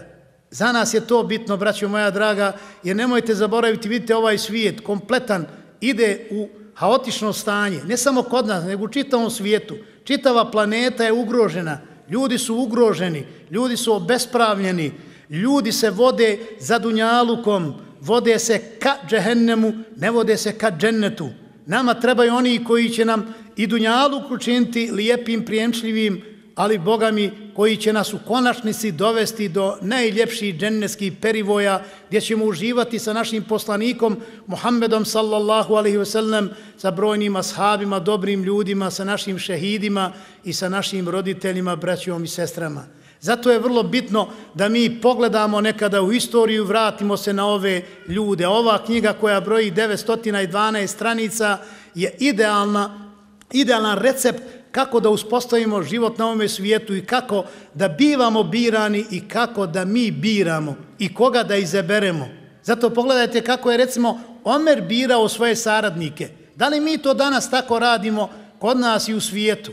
Za nas je to bitno, braćo moja draga, jer nemojte zaboraviti, vidite ovaj svijet kompletan ide u haotično stanje, ne samo kod nas, nego u čitavom svijetu. Čitava planeta je ugrožena, ljudi su ugroženi, ljudi su obespravljeni, ljudi se vode za dunjalukom, vode se ka džehennemu, ne vode se ka džennetu. Nama trebaju oni koji će nam i dunjaluk učiniti lijepim, prijemčljivim, ali Boga mi koji će nas u konačnici dovesti do najljepših džennetskih perivoja gdje ćemo uživati sa našim poslanikom Muhammedom sallallahu alejhi ve sellem, sa brojnim ashabima, dobrim ljudima, sa našim šehidima i sa našim roditeljima, braćom i sestrama. Zato je vrlo bitno da mi pogledamo nekada u istoriju, vratimo se na ove ljude. Ova knjiga koja broji devetsto dvanaest stranica je idealna, idealan recept kako da uspostavimo život na ovome svijetu i kako da bivamo birani i kako da mi biramo i koga da izaberemo. Zato pogledajte kako je recimo Omer birao svoje saradnike. Da li mi to danas tako radimo kod nas i u svijetu?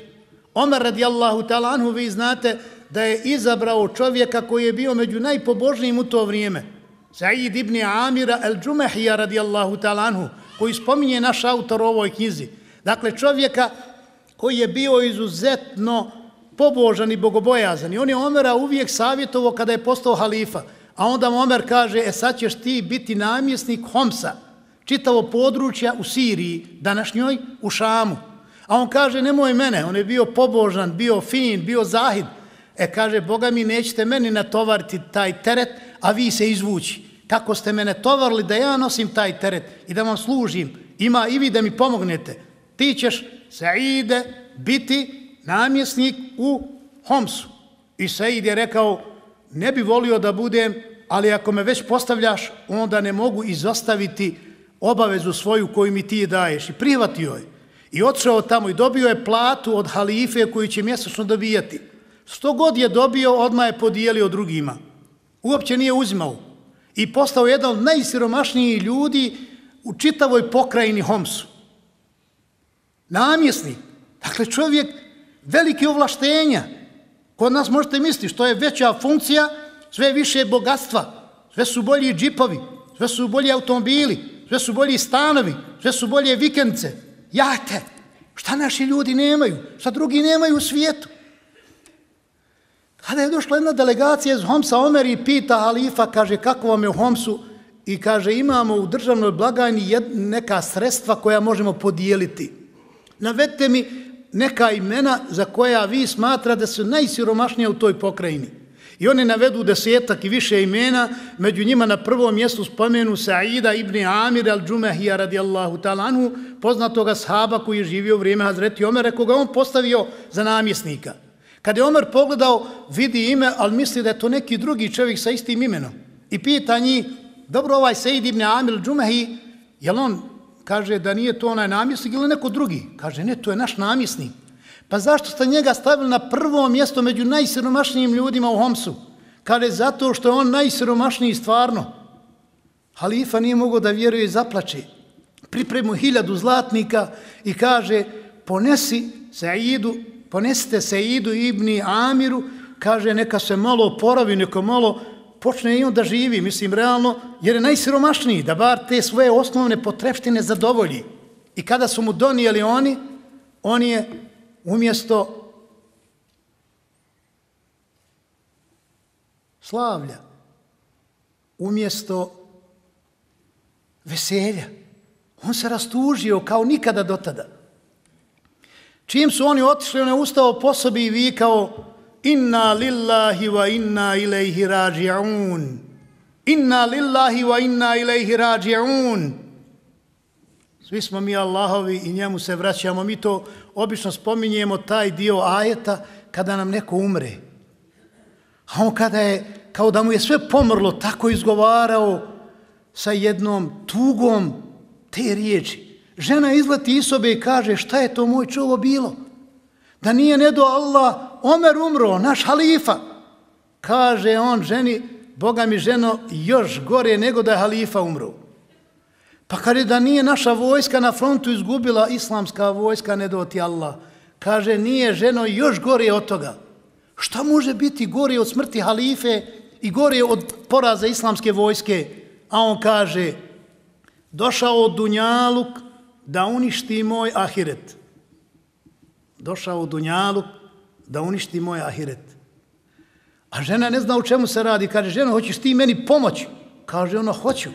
Omer radijallahu ta'ala anhu, vi znate da je izabrao čovjeka koji je bio među najpobožnijim u to vrijeme. Said ibn Amira el-Džumehija radijallahu ta'ala anhu, koji spominje naš autor u ovoj knjizi. Dakle, čovjeka koji je bio izuzetno pobožan i bogobojazan. I on je Omera uvijek savjetovao kada je postao halifa. A onda Omer kaže, e sad ćeš ti biti namjesnik Homsa, čitavo područja u Siriji, današnjoj u Šamu. A on kaže, nemoj mene, on je bio pobožan, bio fin, bio zahid. E kaže, Boga mi nećete meni natovariti taj teret, a vi se izvući. Kako ste mene tovarili da ja nosim taj teret i da vam služim, ima i vi da mi pomognete. ti ćeš, Saide, biti namjesnik u Homsu. I Said je rekao, ne bi volio da budem, ali ako me već postavljaš, onda ne mogu izostaviti obavezu svoju koju mi ti daješ. I prihvatio je. I otišao tamo i dobio je platu od halife koju će mjesečno dobijati. Sto god je dobio, odmah je podijelio drugima. Uopće nije uzimao. I postao jedan od najsiromašnijih ljudi u čitavoj pokrajini Homsu. Namjesnik. Dakle, čovjek velike ovlaštenja. Kod nas možete misliti što je veća funkcija, sve više bogatstva, sve su bolji džipovi, sve su bolji automobili, sve su bolji stanovi, sve su bolje vikendce, jahte. Šta naši ljudi nemaju? Šta drugi nemaju u svijetu? Kada je došla jedna delegacija iz Homsa, Omer i pita halifa, kaže, kako vam je u Homsu? I kaže, imamo u državnoj blagajni neka sredstva koja možemo podijeliti. Navedite mi neka imena za koja vi smatra da su najsiromašnija u toj pokrajini. I oni navedu desetak i više imena, među njima na prvom mjestu spomenu Saida ibn Amir al-Džumehija radijallahu ta'ala anhu, poznatoga sahaba koji je živio u vrijeme Hazreti Omera, koga on postavio za namjesnika. Kad je Omer pogledao, vidi ime, ali misli da je to neki drugi čovjek sa istim imenom. I pita njih, dobro, ovaj Said ibn Amir al-Džumehi, jel on kaže da nije to onaj namjesnik ili neko drugi? Kaže, ne, to je naš namjesnik. Pa zašto ste njega stavili na prvo mjesto među najsiromašnijim ljudima u Homsu? Kaže, zato što je on najsiromašniji stvarno. Halifa nije mogao da vjeruje i zaplače. Pripremu hiljadu zlatnika i kaže, ponesi Saidu, ponesite Saidu ibn Amiru, kaže, neka se malo oporavi, neka malo počne i on da živi, mislim, realno, jer je najsiromašniji, da bar te svoje osnovne potrepštine zadovolji. I kada su mu donijeli oni, on je umjesto slavlja, umjesto veselja, on se rastužio kao nikada do tada. Čim su oni otišli, on je ustao po sobi i vikao, inna lillahi wa inna ilaihi rađi'un. Inna lillahi wa inna ilaihi rađi'un. Svi smo mi Allahovi i njemu se vraćamo. Mi to obično spominjemo, taj dio ajeta, kada nam neko umre. A on kada je, kao da mu je sve pomrlo, tako izgovarao sa jednom tugom te riječi. Žena izleti iz sobe i kaže, šta je to moj čovo bilo? Da nije ne do Allah, Omer umro, naš halifa. Kaže on ženi, Boga mi ženo, još gore nego da je halifa umro. Pa kaže da nije naša vojska na frontu izgubila, islamska vojska, ne do ti Allah. Kaže, nije ženo još gore od toga. Šta može biti gore od smrti halife i gore od poraza islamske vojske? A on kaže, došao od Dunjaluk da uništi moj ahiret. Došao u Dunjaluk da uništi moj ahiret. A žena ne zna u čemu se radi. Kaže, ženo, hoćeš ti meni pomoći? Kaže ona, hoću.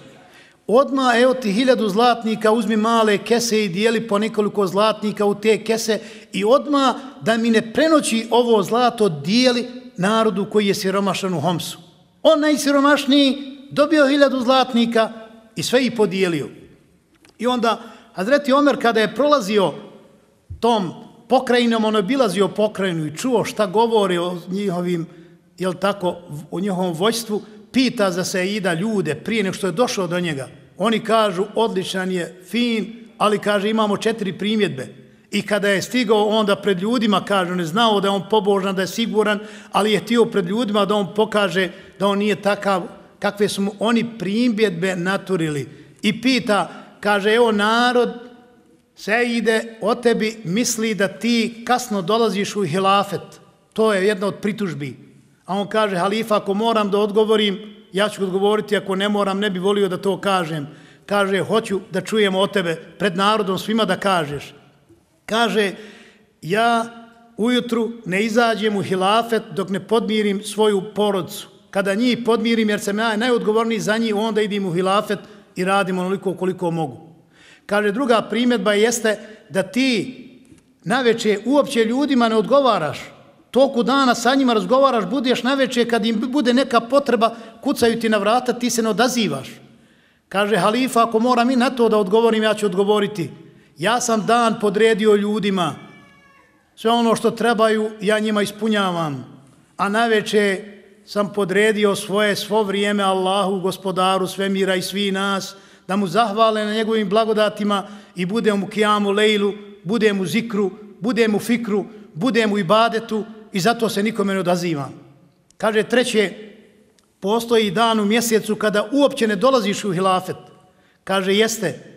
Odmah, evo ti hiljadu zlatnika, uzmi male kese i dijeli po nekoliko zlatnika u te kese i odmah da mi ne prenoći ovo zlato dijeli narodu koji je siromašan u Homsu. On najsiromašniji dobio hiljadu zlatnika i sve ih podijelio. I onda Hazreti Omer kada je prolazio tom pokrajinom, on obilazio pokrajinu i čuo šta govori o njihovim, jel tako, o njihovom vojstvu, pita za Saida ljude prije nego što je došao do njega. Oni kažu, odličan je, fin, ali kaže, imamo četiri primjedbe. I kada je stigao onda pred ljudima, kaže, on je znao da je on pobožan, da je siguran, ali je htio pred ljudima da on pokaže da on nije takav, kakve su mu oni primjedbe naturili. I pita, kaže, evo narod, Saide, o tebi misli da ti kasno dolaziš u hilafet. To je jedna od pritužbi. A on kaže, halifa, ako moram da odgovorim, ja ću odgovoriti, ako ne moram, ne bi volio da to kažem. Kaže, hoću da čujem o tebe pred narodom svima da kažeš. Kaže, ja ujutru ne izađem u hilafet dok ne podmirim svoju porodcu. Kada njih podmirim, jer sam ja najodgovorniji za njih, onda idem u hilafet i radim onoliko koliko mogu. Kaže, druga primjedba jeste da ti naveče uopće ljudima ne odgovaraš. Toku dana sa njima razgovaraš, budeš naveče, kad im bude neka potreba, kucaju ti na vrata, ti se ne odazivaš. Kaže, halifa, ako moram i na to da odgovorim, ja ću odgovoriti. Ja sam dan podredio ljudima, sve ono što trebaju ja njima ispunjavam, a naveče sam podredio svoje svo vrijeme Allahu, gospodaru svemira i svi nas, da mu zahvale na njegovim blagodatima i budem u kijamu lejlu, budem u zikru, budem u fikru, budem u ibadetu i zato se nikome ne odazivam. Kaže treće, postoji dan u mjesecu kada uopće ne dolaziš u hilafet. Kaže jeste,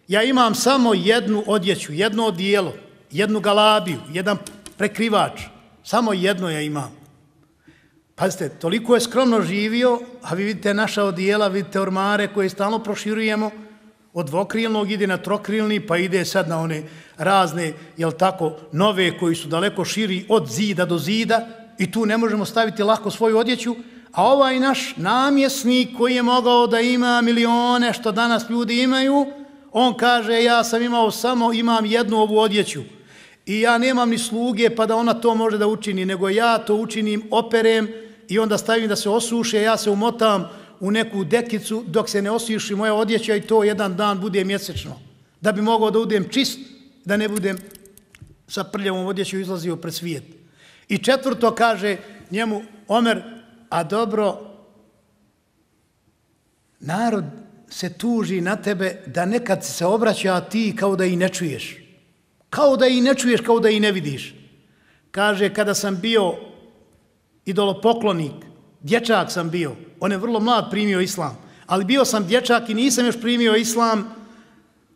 ja imam samo jednu odjeću, jedno odijelo, jednu galabiju, jedan prekrivač, samo jedno ja imam. Pazite, toliko je skromno živio, a vi vidite naša odijela, vidite ormare koje stalno proširujemo, od dvokrilnog ide na trokrilni, pa ide sad na one razne, jel tako, nove koji su daleko širi od zida do zida i tu ne možemo staviti lako svoju odjeću, a ovaj naš namjesnik koji je mogao da ima milione što danas ljudi imaju, on kaže ja sam imao samo, imam jednu ovu odjeću i ja nemam ni sluge pa da ona to može da učini, nego ja to učinim, operem i onda stavim da se osuše, ja se umotam u neku dekicu dok se ne osuši moja odjeća i to jedan dan bude mjesečno. Da bi mogao da budem čist, da ne budem sa prljavom odjećom izlazio pred svijet. I četvrto kaže njemu Omer, a dobro, narod se tuži na tebe da nekad se obraća, a ti kao da i ne čuješ. Kao da i ne čuješ, kao da i ne vidiš. Kaže, kada sam bio idolopoklonik, dječak sam bio, on je vrlo mlad primio islam, ali bio sam dječak i nisam još primio islam.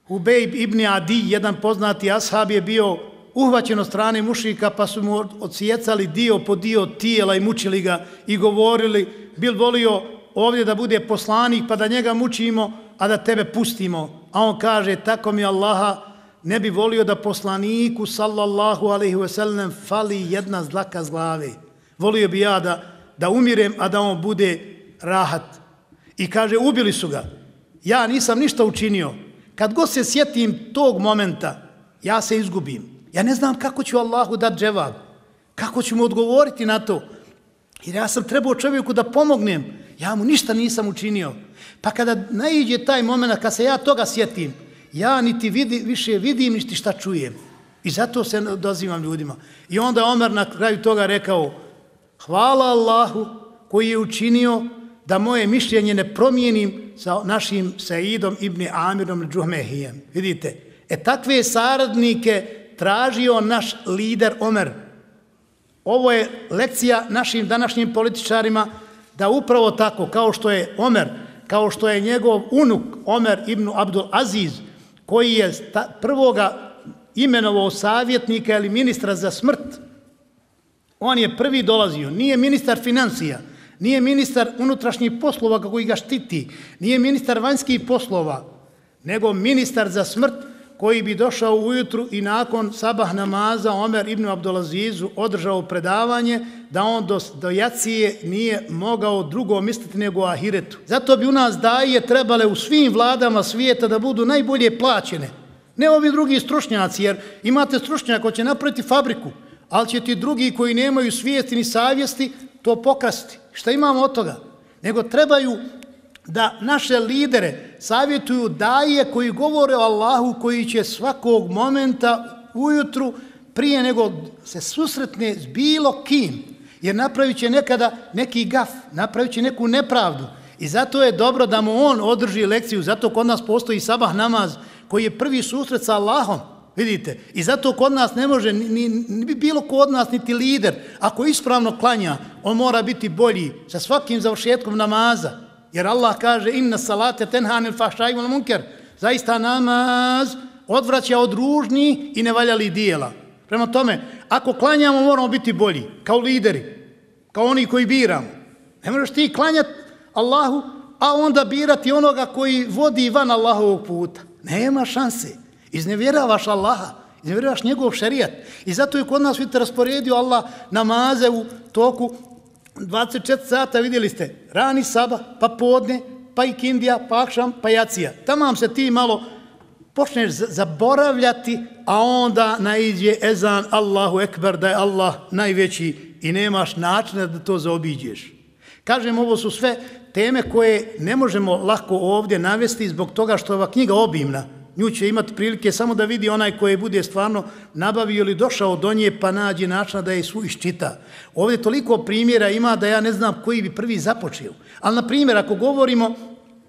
Ubejb ibn Adi, jedan poznati ashab, je bio uhvaćen od strane mušika, pa su mu odsjecali dio po dio tijela i mučili ga i govorili, bil volio ovdje da bude poslanik pa da njega mučimo, a da tebe pustimo. A on kaže, tako mi Allaha, ne bi volio da poslaniku sallallahu alaihi ve sellem fali jedna dlaka s glave. Volio bi ja da, da umirem, a da on bude rahat. I kaže, ubili su ga. Ja nisam ništa učinio. Kad god se sjetim tog momenta, ja se izgubim. Ja ne znam kako ću Allahu dati dževab. Kako ću mu odgovoriti na to. Jer ja sam trebao čovjeku da pomognem. Ja mu ništa nisam učinio. Pa kada naiđe taj moment, kad se ja toga sjetim, ja niti vidi, više vidim, niti šta čujem. I zato se dozivam ljudima. I onda Omer na kraju toga rekao, hvala Allahu koji je učinio da moje mišljenje ne promijenim sa našim Saidom ibn Amirom Džuhmehijem. Vidite, e takve saradnike tražio naš lider Omer. Ovo je lekcija našim današnjim političarima da upravo tako, kao što je Omer, kao što je njegov unuk Omer ibn Abdul Aziz, koji je prvoga imenovao savjetnika ili ministra za smrt, on je prvi dolazio, nije ministar financija, nije ministar unutrašnjih poslova kako ga štiti, nije ministar vanjskih poslova, nego ministar za smrt koji bi došao ujutru i nakon sabah namaza Omer ibn Abdulazizu održao predavanje da on do, do jacije nije mogao drugo misliti nego o ahiretu. Zato bi u nas daje trebale u svim vladama svijeta da budu najbolje plaćene. Ne ovi drugi stručnjaci, jer imate stručnjaka koji će napraviti fabriku, ali će ti drugi koji nemaju svijesti ni savjesti to pokrasti. Šta imamo od toga? Nego trebaju da naše lidere savjetuju daje koji govore o Allahu, koji će svakog momenta ujutru prije nego se susretne s bilo kim, jer napravit će nekada neki gaf, napravit će neku nepravdu. I zato je dobro da mu on održi lekciju, zato kod nas postoji sabah namaz koji je prvi susret sa Allahom, vidite. I zato kod nas ne može, ni, ni bilo kod nas, niti lider, ako ispravno klanja, on mora biti bolji sa svakim završetkom namaza. Jer Allah kaže, inna salate tenhanil fahšaj wal munker, zaista namaz odvraća od ružnih i nevaljali dijela. Prema tome, ako klanjamo, moramo biti bolji, kao lideri, kao oni koji biramo. Ne možeš ti klanjati Allahu, a onda birati onoga koji vodi van Allahovog puta. Nema šanse. Iznevjeravaš Allaha, iznevjeravaš njegov šerijat. I zato je kod nas, vidite, rasporedio Allah namaze u toku dvadeset četiri sata, vidjeli ste, rani sabah, pa podne, pa ikindija, pa akšam, pa jacija. Tamam se ti malo počneš zaboravljati, a onda naiđe ezan Allahu ekber, da je Allah najveći i nemaš načina da to zaobiđeš. Kažem, ovo su sve teme koje ne možemo lako ovdje navesti zbog toga što je ova knjiga obimna. Nju će imati prilike samo da vidi onaj koji bude stvarno nabavio ili došao do nje pa nađe načina da je su iščita. Ovdje toliko primjera ima da ja ne znam koji bi prvi započeo. Ali na primjer, ako govorimo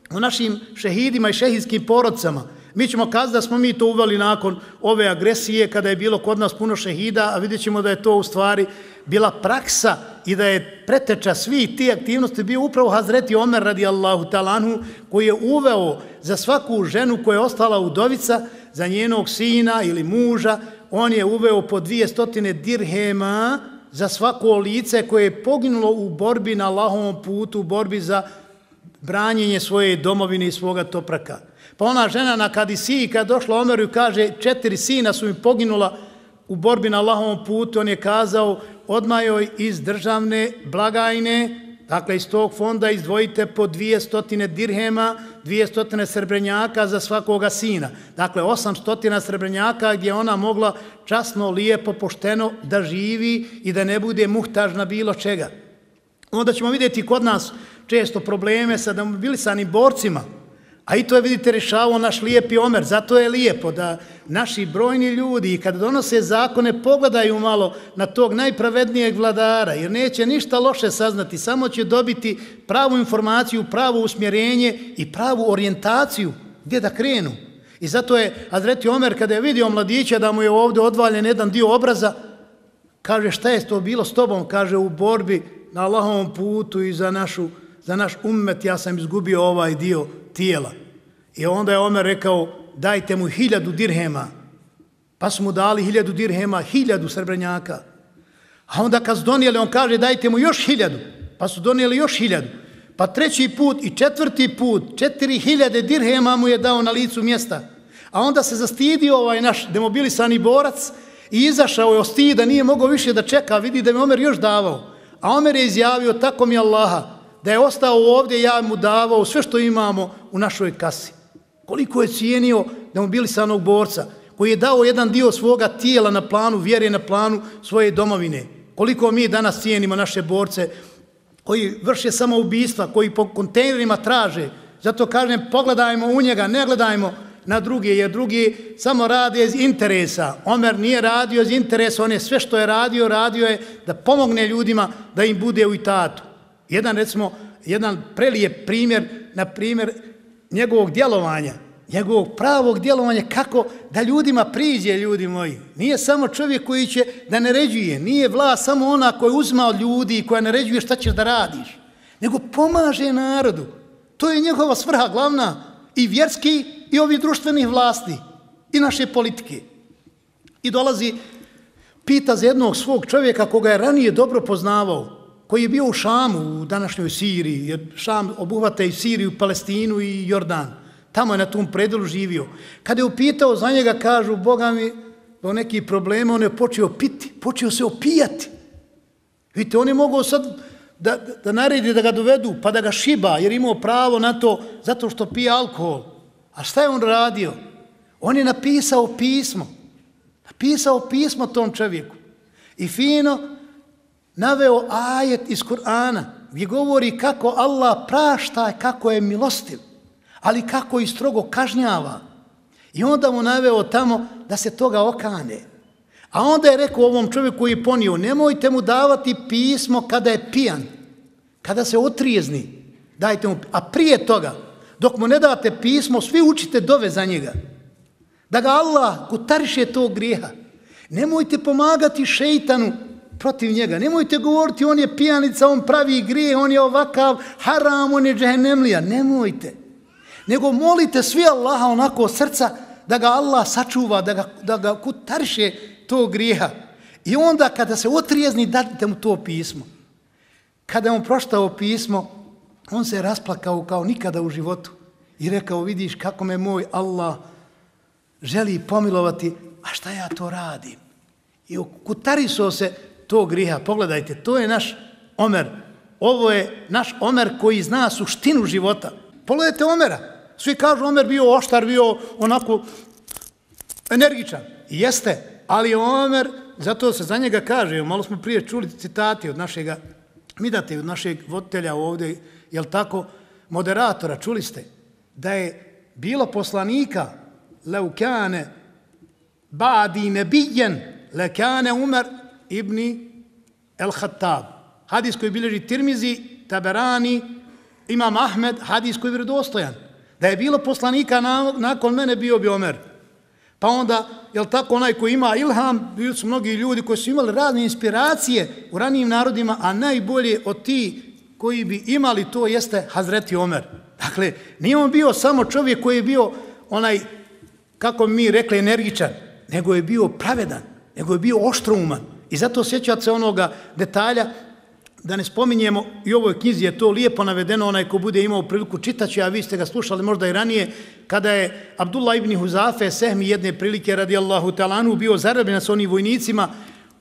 o našim šehidima i šehidskim porodcama, mi ćemo kazati da smo mi to uveli nakon ove agresije kada je bilo kod nas puno šehida, a vidjet ćemo da je to u stvari bila praksa i da je preteča svih tih aktivnosti bio upravo Hazreti Omer radijallahu ta'ala anhu, koji je uveo za svaku ženu koja je ostala udovica, za njenog sina ili muža, on je uveo po dvije stotine dirhema za svako lice koje je poginulo u borbi na Allahovom putu, u borbi za branjenje svoje domovine i svoga topraka. Pa ona žena na Kadisiji kad došla Omeru i kaže četiri sina su mi poginula u borbi na Allahovom putu, on je kazao odmah joj iz državne blagajne, dakle iz tog fonda izdvojite po dvije stotine dirhema, dvije stotine srebrenjaka za svakoga sina. Dakle, osam stotina srebrenjaka gdje ona mogla časno, lijepo, pošteno da živi i da ne bude muhtaž na bilo čega. Onda ćemo vidjeti kod nas često probleme sa demobilisanim borcima, a i to je, vidite, rješavao naš lijepi Omer. Zato je lijepo da naši brojni ljudi, kada donose zakone, pogledaju malo na tog najpravednijeg vladara, jer neće ništa loše saznati, samo će dobiti pravu informaciju, pravo usmjerenje i pravu orijentaciju gdje da krenu. I zato je Hazreti Omer, kada je vidio mladića da mu je ovdje odvaljen jedan dio obraza, kaže šta je to bilo s tobom? Kaže u borbi na Allahovom putu i za, našu, za naš ummet ja sam izgubio ovaj dio tijela. I onda je Omer rekao dajte mu hiljadu dirhema. Pa su mu dali hiljadu dirhema, hiljadu srebrenjaka. A onda kad su donijeli, on kaže dajte mu još hiljadu. Pa su donijeli još hiljadu. Pa treći put i četvrti put, četiri hiljade dirhema mu je dao na licu mjesta. A onda se zastidio ovaj naš demobilisani borac i izašao je od stida, nije mogao više da čeka, vidi da mi Omer još davao. A Omer je izjavio, tako mi Allaha, da je ostao ovdje, ja mu davao sve što imamo u našoj kasi. Koliko je cijenio demobilisanog borca, koji je dao jedan dio svoga tijela na planu vjere, na planu svoje domovine. Koliko mi danas cijenimo naše borce, koji vrše samoubistva, koji po kontejnerima traže. Zato kažem, pogledajmo u njega, ne gledajmo na druge, jer drugi samo rade iz interesa. Omer nije radio iz interesa, on je sve što je radio, radio je da pomogne ljudima da im bude u itatu. Jedan, recimo, jedan prelijep primjer, na primjer, njegovog djelovanja, njegovog pravog djelovanja, kako da ljudima priđe, ljudi moji. Nije samo čovjek koji će da naređuje, nije vlast samo ona koja uzma od ljudi i koja naređuje šta ćeš da radiš, nego pomaže narodu. To je njegova svrha glavna, i vjerski i ovi društvenih vlasti, i naše politike. I dolazi, pita za jednog svog čovjeka koga je ranije dobro poznavao, koji je bio u Šamu, u današnjoj Siriji, jer Šam obuhvata i Siriju, Palestinu i Jordan. Tamo je na tom predelu živio. Kada je upitao za njega, kažu, Boga mi, do nekih problema, on je počeo piti, počeo se opijati. Vidite, on je mogao sad da, da naredi da ga dovedu, pa da ga šiba, jer imao pravo na to, zato što pije alkohol. A šta je on radio? On je napisao pismo. Napisao pismo tom čovjeku. I fino naveo ajet iz Kur'ana, gdje govori kako Allah prašta, kako je milostiv, ali kako i strogo kažnjava. I onda mu naveo tamo da se toga okane. A onda je rekao ovom čovjeku koji je ponio, nemojte mu davati pismo kada je pijan, kada se otrijezni, dajte mu, a prije toga, dok mu ne date pismo, svi učite dove za njega. Da ga Allah kutariše tog grijeha. Nemojte pomagati šeitanu protiv njega. Nemojte govoriti on je pijanica, on pravi grije, on je ovakav haram, on je džehennemlija. Nemojte. Nego molite svi Allaha onako od srca da ga Allah sačuva, da ga, da ga kutariše tog grijeha. I onda kada se otrijezni, dajte mu to pismo. Kada je on proštao pismo, on se rasplakao kao nikada u životu i rekao, vidiš kako me moj Allah želi pomilovati, a šta ja to radim? I kutarisao se tog grijeha. Pogledajte, to je naš Omer. Ovo je naš Omer koji zna suštinu života. Pogledajte Omera. Svi kažu Omer bio oštar, bio onako energičan. I jeste, ali Omer, zato se za njega kaže, malo smo prije čuli citati od našega Midate, od našeg voditelja ovdje, jel tako, moderatora, čuli ste, da je bilo poslanika لو كان بعدي نبيا لكان عمر ابن الخطاب. Hadis koji bilježi Tirmizi, Taberani, Imam Ahmed, hadis koji je vjerodostojan. Da je bilo poslanika na, nakon mene bio bi Omer. Pa onda, jel tako, onaj koji ima ilham, bili su mnogi ljudi koji su imali razne inspiracije u ranijim narodima, a najbolje od ti koji bi imali to jeste Hazreti Omer. Dakle, nije on bio samo čovjek koji je bio onaj, kako mi rekli, energičan, nego je bio pravedan, nego je bio oštrouman. I zato sjećate se onoga detalja, da ne spominjemo, i u ovoj knjizi je to lijepo navedeno, onaj ko bude imao priliku čitaći, a vi ste ga slušali možda i ranije, kada je Abdullah ibn Huzafe Sehmi jedne prilike radijallahu talanu bio zarobljen s onim vojnicima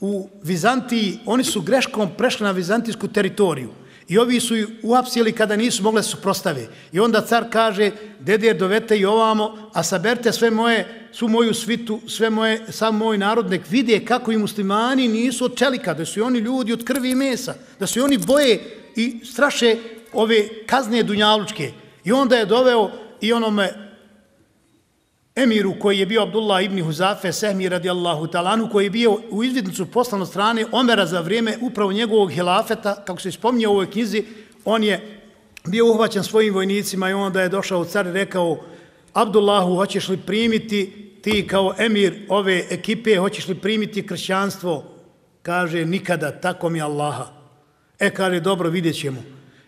u Vizantiji, oni su greškom prešli na vizantijsku teritoriju. I ovi su ih uhapsili kada nisu mogli se suprostave. I onda car kaže, deder dovete i ovamo, a saberte sve moje, svu moju svitu, sve moje, sam moj narod, nek vide kako i muslimani nisu od čelika, da su oni ljudi od krvi i mesa, da su oni boje i straše ove kazne dunjalučke. I onda je doveo i onome emiru koji je bio Abdullah ibn Huzafe Sehmi radijallahu talanu, koji je bio u izvidnicu poslan od strane Omera za vrijeme upravo njegovog hilafeta, kako se spominje u ovoj knjizi, on je bio uhvaćen svojim vojnicima i onda je došao car i rekao, Abdullahu, hoćeš li primiti ti kao emir ove ekipe, hoćeš li primiti kršćanstvo? Kaže, nikada, tako mi Allaha. E, kaže, dobro, vidjet ćemo.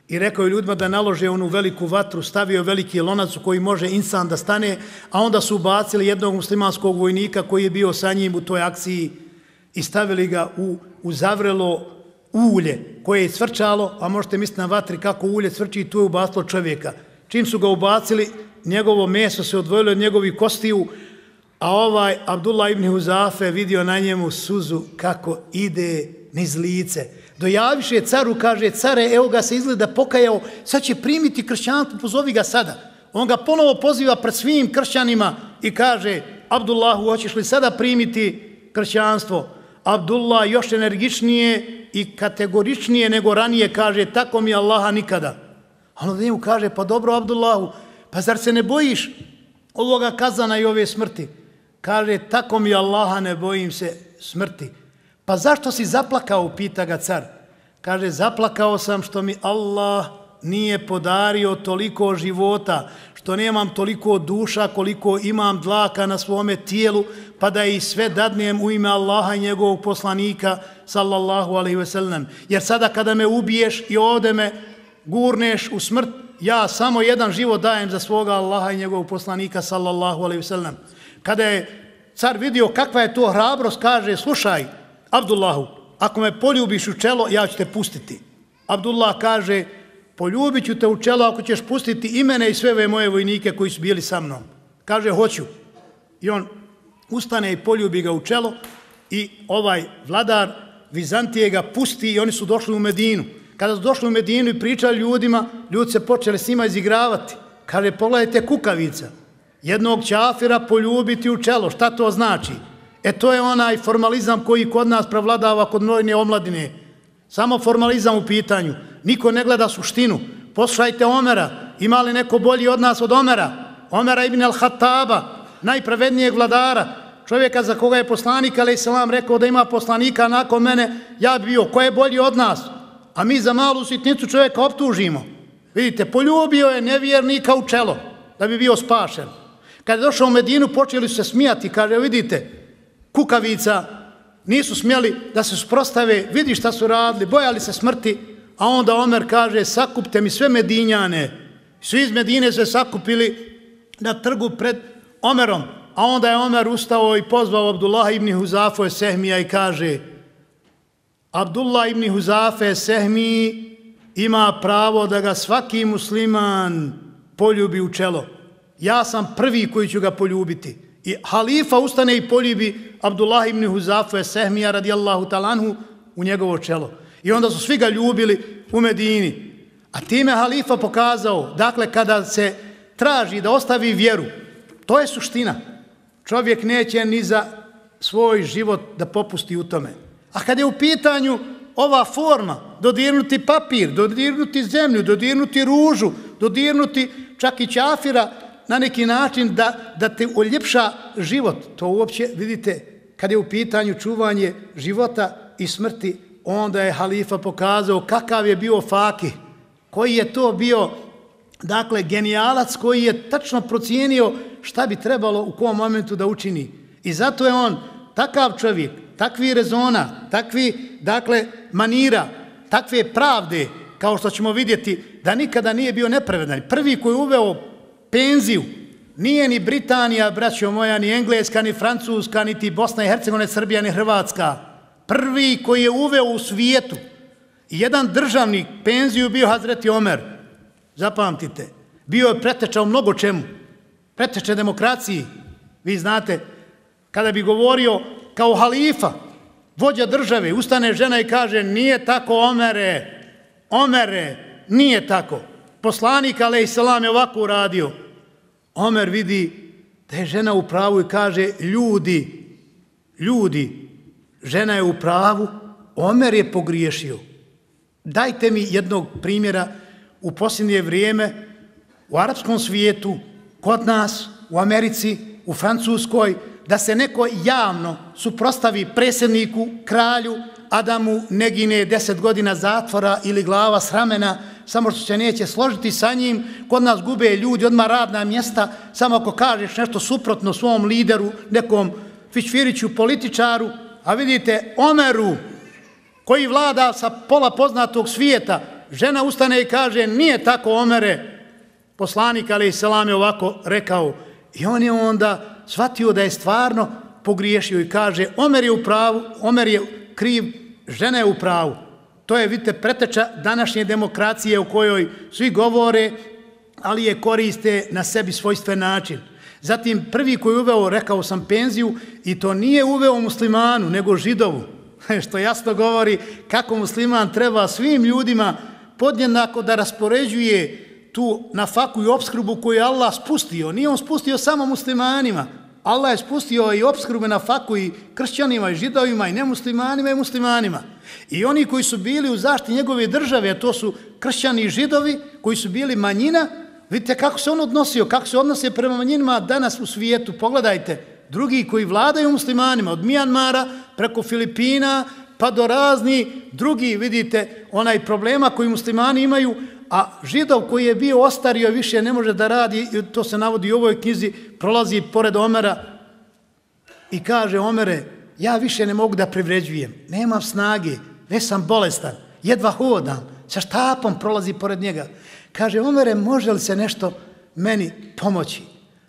I rekao je ljudima da nalože onu veliku vatru, stavio veliki lonac u koji može insan da stane, a onda su ubacili jednog muslimanskog vojnika koji je bio sa njim u toj akciji i stavili ga u, u zavrelo ulje koje je cvrčalo, a možete misliti na vatri kako ulje cvrči i tu je ubacilo čovjeka. Čim su ga ubacili, njegovo meso se odvojilo od njegovih kostiju, a ovaj Abdullah ibn Huzafe vidio na njemu suzu kako ide niz lice. Dojaviše caru, kaže, care, evo ga se izgleda pokajao, sad će primiti kršćanstvo, pozovi ga sada. On ga ponovo poziva pred svim kršćanima i kaže, Abdullahu, hoćeš li sada primiti kršćanstvo? Abdullah još energičnije i kategoričnije nego ranije kaže, tako mi Allaha nikada. A onda njemu kaže, pa dobro Abdullahu, pa zar se ne bojiš ovoga kazana i ove smrti? Kaže, tako mi Allaha ne bojim se smrti. Pa zašto si zaplakao, pita ga car. Kaže, zaplakao sam što mi Allah nije podario toliko života, što nemam toliko duša koliko imam dlaka na svome tijelu, pa da i sve dadnem u ime Allaha i njegovog poslanika, sallallahu alaihi ve sellem. Jer sada kada me ubiješ i ovdje me gurneš u smrt, ja samo jedan život dajem za svoga Allaha i njegovog poslanika, sallallahu alaihi ve sellem. Kada je car vidio kakva je to hrabrost, kaže, slušaj, Abdullahu, ako me poljubiš u čelo, ja ću te pustiti. Abdullah kaže, poljubit ću te u čelo ako ćeš pustiti i mene i sve ove moje vojnike koji su bili sa mnom. Kaže, hoću. I on ustane i poljubi ga u čelo i ovaj vladar Vizantije ga pusti i oni su došli u Medinu. Kada su došli u Medinu i pričali ljudima, ljudi se počeli s njima izigravati. Kaže, pogledajte kukavica, jednog ćafira poljubiti u čelo, šta to znači? E to je onaj formalizam koji kod nas prevladava kod mnojne omladine. Samo formalizam u pitanju. Niko ne gleda suštinu. Poslušajte Omera. Ima li neko bolji od nas od Omera? Omera ibn al-Hattaba, najpravednijeg vladara. Čovjeka za koga je poslanik, alejhi selam, rekao da ima poslanika nakon mene, ja bi bio. Ko je bolji od nas? A mi za malu sitnicu čovjeka optužimo. Vidite, poljubio je nevjernika u čelo da bi bio spašen. Kad je došao u Medinu, počeli su se smijati. Kaže, vidite, kukavica, nisu smjeli da se suprostave, vidi šta su radili, bojali se smrti, a onda Omer kaže, sakupte mi sve Medinjane. Svi iz Medine se sakupili na trgu pred Omerom, a onda je Omer ustao i pozvao Abdullah ibn Huzafe Sehmija i kaže, Abdullah ibn Huzafe Sehmi ima pravo da ga svaki musliman poljubi u čelo. Ja sam prvi koji ću ga poljubiti. I halifa ustane i poljubi Abdullah ibn Huzafe Sehmija radijallahu talanhu u njegovo čelo. I onda su svi ga ljubili u Medini. A time halifa pokazao, dakle, kada se traži da ostavi vjeru, to je suština. Čovjek neće ni za svoj život da popusti u tome. A kada je u pitanju ova forma, dodirnuti papir, dodirnuti zemlju, dodirnuti ružu, dodirnuti čak i ćafira, na neki način da, da te uljepša život. To uopće, vidite, kad je u pitanju čuvanje života i smrti, onda je halifa pokazao kakav je bio fakih, koji je to bio, dakle, genijalac koji je tačno procijenio šta bi trebalo u kom momentu da učini. I zato je on takav čovjek, takvi rezona, takvi, dakle, manira, takve pravde, kao što ćemo vidjeti, da nikada nije bio nepravedan. Prvi koji je uveo penziju, nije ni Britanija, braćo moja, ni Engleska, ni Francuska, niti Bosna i Hercegovina, Srbija, ni Hrvatska. Prvi koji je uveo u svijetu jedan državnik penziju bio Hazreti Omer. Zapamtite. Bio je preteča u mnogo čemu. Preteča demokraciji. Vi znate, kada bi govorio kao halifa, vođa države, ustane žena i kaže nije tako Omere, Omere, nije tako. Poslanik alejselam je ovako uradio. Omer vidi da je žena u pravu i kaže ljudi, ljudi, žena je u pravu, Omer je pogriješio. Dajte mi jednog primjera u posljednje vrijeme u arapskom svijetu, kod nas, u Americi, u Francuskoj, da se neko javno suprostavi predsjedniku, kralju, a da mu ne gine deset godina zatvora ili glava s ramena, samo što se neće složiti sa njim. Kod nas gube ljudi odmah radna mjesta, samo ako kažeš nešto suprotno svom lideru, nekom fićfiriću, političaru, a vidite Omeru, koji vlada sa pola poznatog svijeta, žena ustane i kaže nije tako Omere, poslanik alejselam je ovako rekao. I on je onda shvatio da je stvarno pogriješio i kaže Omer je u pravu, Omer je kriv, žena je u pravu. To je, vidite, preteča današnje demokracije u kojoj svi govore, ali je koriste na sebi svojstven način. Zatim prvi koji je uveo, rekao sam, penziju, i to nije uveo muslimanu, nego židovu. Što jasno govori kako musliman treba svim ljudima podjednako da raspoređuje tu nafaku i opskrbu koju je Allah spustio. Nije on spustio samo muslimanima. Allah je spustio i opskrbu nafaku i kršćanima i židovima i nemuslimanima i muslimanima. I oni koji su bili u zaštiti njegove države, a to su kršćani i židovi, koji su bili manjina, vidite kako se on odnosio, kako se odnose prema manjinima danas u svijetu. Pogledajte, drugi koji vladaju muslimanima, od Mijanmara preko Filipina, pa do razni drugi, vidite, onaj problema koji muslimani imaju, a židov koji je bio ostario više ne može da radi, to se navodi u ovoj knjizi, prolazi pored Omera i kaže Omere, ja više ne mogu da privređujem, nemam snage, već sam bolestan, jedva hodam, sa štapom prolazi pored njega. Kaže, Omere, može li se nešto meni pomoći?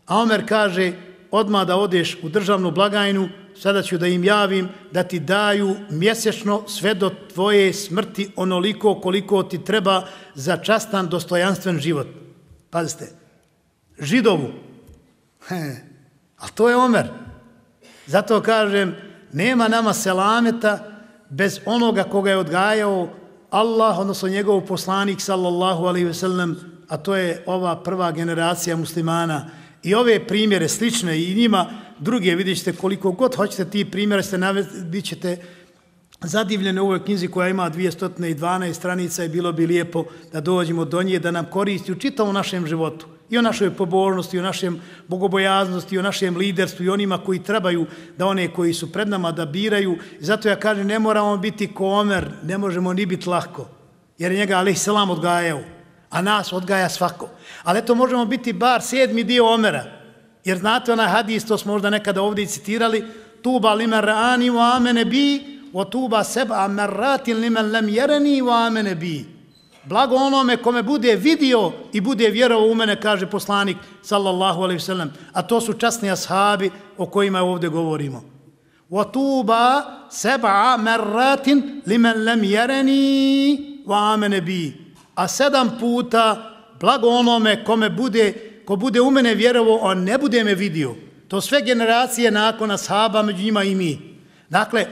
A Omer kaže, odmah da odeš u državnu blagajnu, sada ću da im javim da ti daju mjesečno sve do tvoje smrti onoliko koliko ti treba za častan, dostojanstven život. Pazite, židovu. He, a to je Omer. Zato kažem, nema nama selameta bez onoga koga je odgajao Allah, odnosno njegov poslanik, sallallahu alaihi ve sellem, a to je ova prva generacija muslimana. I ove primjere slične i njima druge, vidjet ćete koliko god hoćete ti primjere, ste bit ćete zadivljeni u ovoj knjizi koja ima dvjesto dvanaest stranica i bilo bi lijepo da dođemo do nje, da nam koristi u čitavom našem životu. I o našoj pobožnosti, i o našem bogobojaznosti, i o našem liderstvu, i onima koji trebaju da one koji su pred nama da biraju. I zato ja kažem, ne moramo biti ko Omer, ne možemo ni biti lahko, jer je njega alejselam odgajao, a nas odgaja svako. Ali eto, možemo biti bar sedmi dio Omera, jer znate onaj hadis, to smo možda nekada ovdje citirali, tuba limen ra'ani wa amene bi, o tuba seba merratin limen lem jereni wa amene bi. Blago onome kome bude vidio i bude vjerovao u mene, kaže poslanik, sallallahu alaihi sallam. A to su časni ashabi o kojima ovdje govorimo. O tuba seba merratin limen lem jereni wa amene bi. A sedam puta blago onome kome bude, ko bude u mene vjerovao, a ne bude me vidio. To sve generacije nakon ashaba, među njima i mi. Dakle,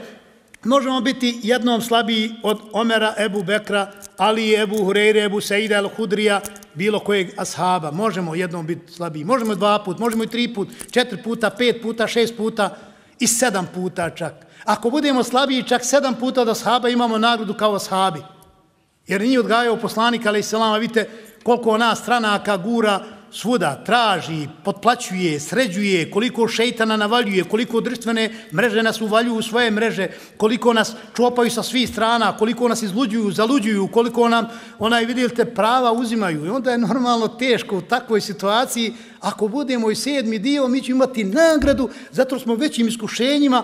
možemo biti jednom slabiji od Omera, Ebu Bekra, Ali, Ebu Hureyre, Ebu Seida, Al-Hudrija, bilo kojeg ashaba. Možemo jednom biti slabiji. Možemo dva put, možemo i tri put, četiri puta, pet puta, šest puta i sedam puta čak. Ako budemo slabiji čak sedam puta od ashaba, imamo nagradu kao ashabi. Jer nije odgajao poslanik, alejselam, vidite koliko nas stranaka gura svuda traži, potplaćuje, sređuje, koliko šeitana navaljuje, koliko društvene mreže nas uvaljuju u svoje mreže, koliko nas čopaju sa svih strana, koliko nas izluđuju, zaluđuju, koliko nam, onaj, vidite, prava uzimaju. I onda je normalno teško u takvoj situaciji. Ako budemo i sedmi dio, mi ćemo imati nagradu, zato smo većim iskušenjima,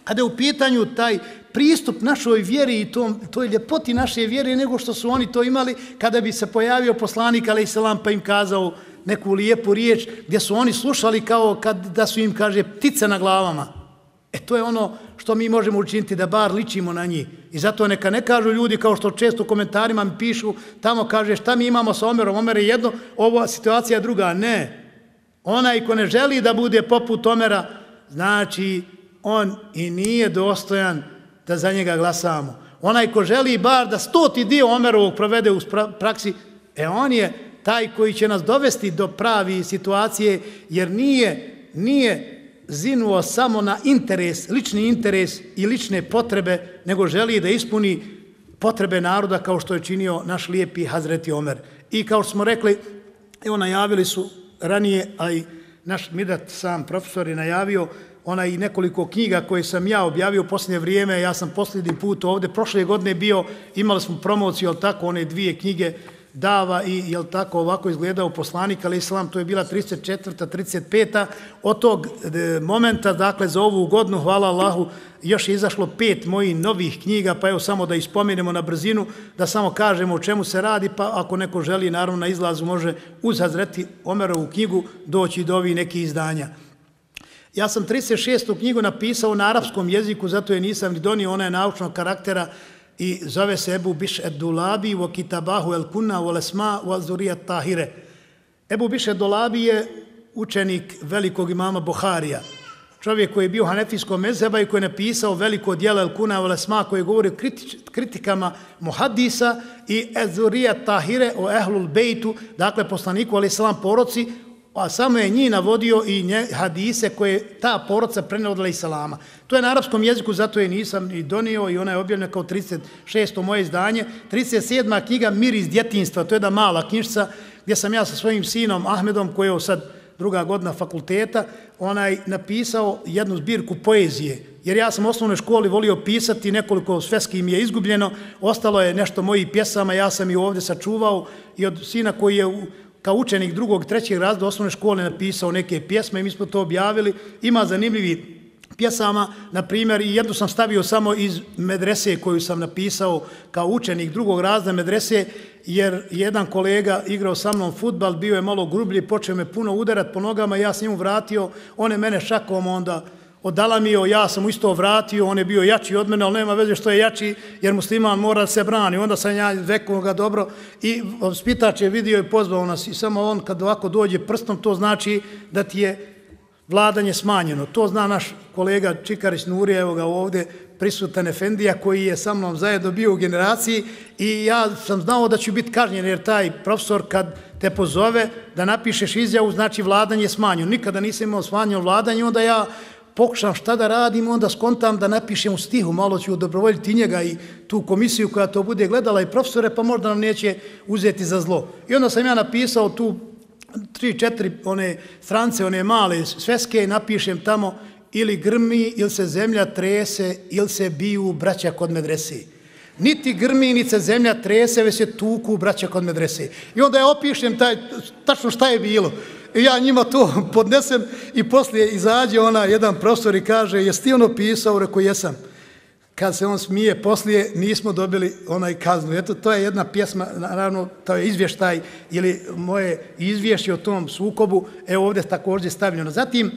kada je u pitanju taj pristup našoj vjeri i tom, toj ljepoti naše vjere nego što su oni to imali kada bi se pojavio poslanik alejhi selam pa im kazao neku lijepu riječ gdje su oni slušali kao kad da su im, kaže, ptice na glavama. E to je ono što mi možemo učiniti, da bar ličimo na njih. I zato neka ne kažu ljudi kao što često u komentarima mi pišu, tamo kaže šta mi imamo sa Omerom, Omer je jedno, ova situacija je druga. Ne. Onaj ko ne želi da bude poput Omera, znači on i nije dostojan da za njega glasamo. Onaj ko želi bar da stoti dio Omerovog provede u praksi, e on je taj koji će nas dovesti do pravi situacije, jer nije, nije zinuo samo na interes, lični interes i lične potrebe, nego želi da ispuni potrebe naroda kao što je činio naš lijepi Hazreti Omer. I kao što smo rekli, evo najavili su ranije, a i naš Midat sam profesor je najavio, ona i nekoliko knjiga koje sam ja objavio u posljednje vrijeme. Ja sam posljednji put ovdje, prošle godine bio, imali smo promociju, jel tako, one dvije knjige Dava i, jel tako, ovako izgledao poslanik, alejhi selam, to je bila trideset četvrta, trideset peta Od tog momenta, dakle, za ovu godinu, hvala Allahu, još je izašlo pet mojih novih knjiga, pa evo samo da ispomenemo na brzinu, da samo kažemo o čemu se radi, pa ako neko želi, naravno, na izlazu može uz Hazreti Omerovu knjigu doći do ovih nekih izdanja. Ja sam trideset šestu knjigu napisao na arapskom jeziku, zato je nisam ni donio, ona je naučnog karaktera i zove se Ebu Biš ed-Dulabi wa kitabahu el-Kunna wa lesma wa zuriyat tahire. Ebu Biš ed-Dulabi je učenik velikog imama Buharija, čovjek koji je bio hanefijskog mezheba i koji je napisao veliko djelo el-Kunna wa lesma koje govori o kritikama muhadisa i zuriyat tahire o ehlul bejtu, dakle poslaniku alejhi selam poroci, a samo je njih navodio i nje, hadise koje ta porodca prenela od alejhi selama. To je na arapskom jeziku, zato je nisam i donio i ona je objavljena kao trideset šesto moje izdanje. trideset sedma knjiga Mir iz djetinjstva, to je jedna mala knjižica gdje sam ja sa svojim sinom Ahmedom, koji je sad druga godina fakulteta, onaj napisao jednu zbirku poezije. Jer ja sam u osnovnoj školi volio pisati, nekoliko sveski mi je izgubljeno, ostalo je nešto mojih pjesama, ja sam i ovdje sačuvao i od sina koji je u kao učenik drugog, trećeg razreda osnovne škole napisao neke pjesme i mi smo to objavili. Ima zanimljivi pjesama, na primjer, i jednu sam stavio samo iz medrese koju sam napisao kao učenik drugog razreda medrese, jer jedan kolega igrao sa mnom fudbal, bio je malo grublji, počeo me puno udarat po nogama, ja sam njemu vratio, on je mene šakom onda odalamio, ja sam mu isto vratio, on je bio jači od mene, ali nema veze što je jači, jer musliman mora se brani. Onda sam ja rekao ga dobro i spitač je vidio i pozvao nas i samo on kad ovako dođe prstom, to znači da ti je vladanje smanjeno. To zna naš kolega Čikarić Nurija, evo ga ovdje, prisutan Efendija, koji je sa mnom zajedno bio u generaciji i ja sam znao da ću biti kažnjen, jer taj profesor kad te pozove da napišeš izjavu, znači vladanje smanjeno. Nikada nisam imao smanjeno vladanje, onda ja pokušam šta da radim, onda skontam da napišem u stihu, malo ću dobrovoljiti njega i tu komisiju koja to bude gledala i profesore, pa možda nam neće uzeti za zlo. I onda sam ja napisao tu tri, četiri one strance, one male sveske i napišem tamo ili grmi, ili se zemlja trese, ili se biju braća kod medrese. Niti grmi, niti se zemlja trese, već se tuku braća kod medrese. I onda ja opišem taj, tačno šta je bilo. I ja njima to podnesem i poslije izađe ona, jedan profesor i kaže, jesi ti ono pisao? Rekao, jesam. Kad se on smije, poslije nismo dobili onaj kaznu. Eto, to je jedna pjesma, naravno, to je izvještaj ili moje izvješće o tom sukobu, evo ovdje također stavljeno. Zatim,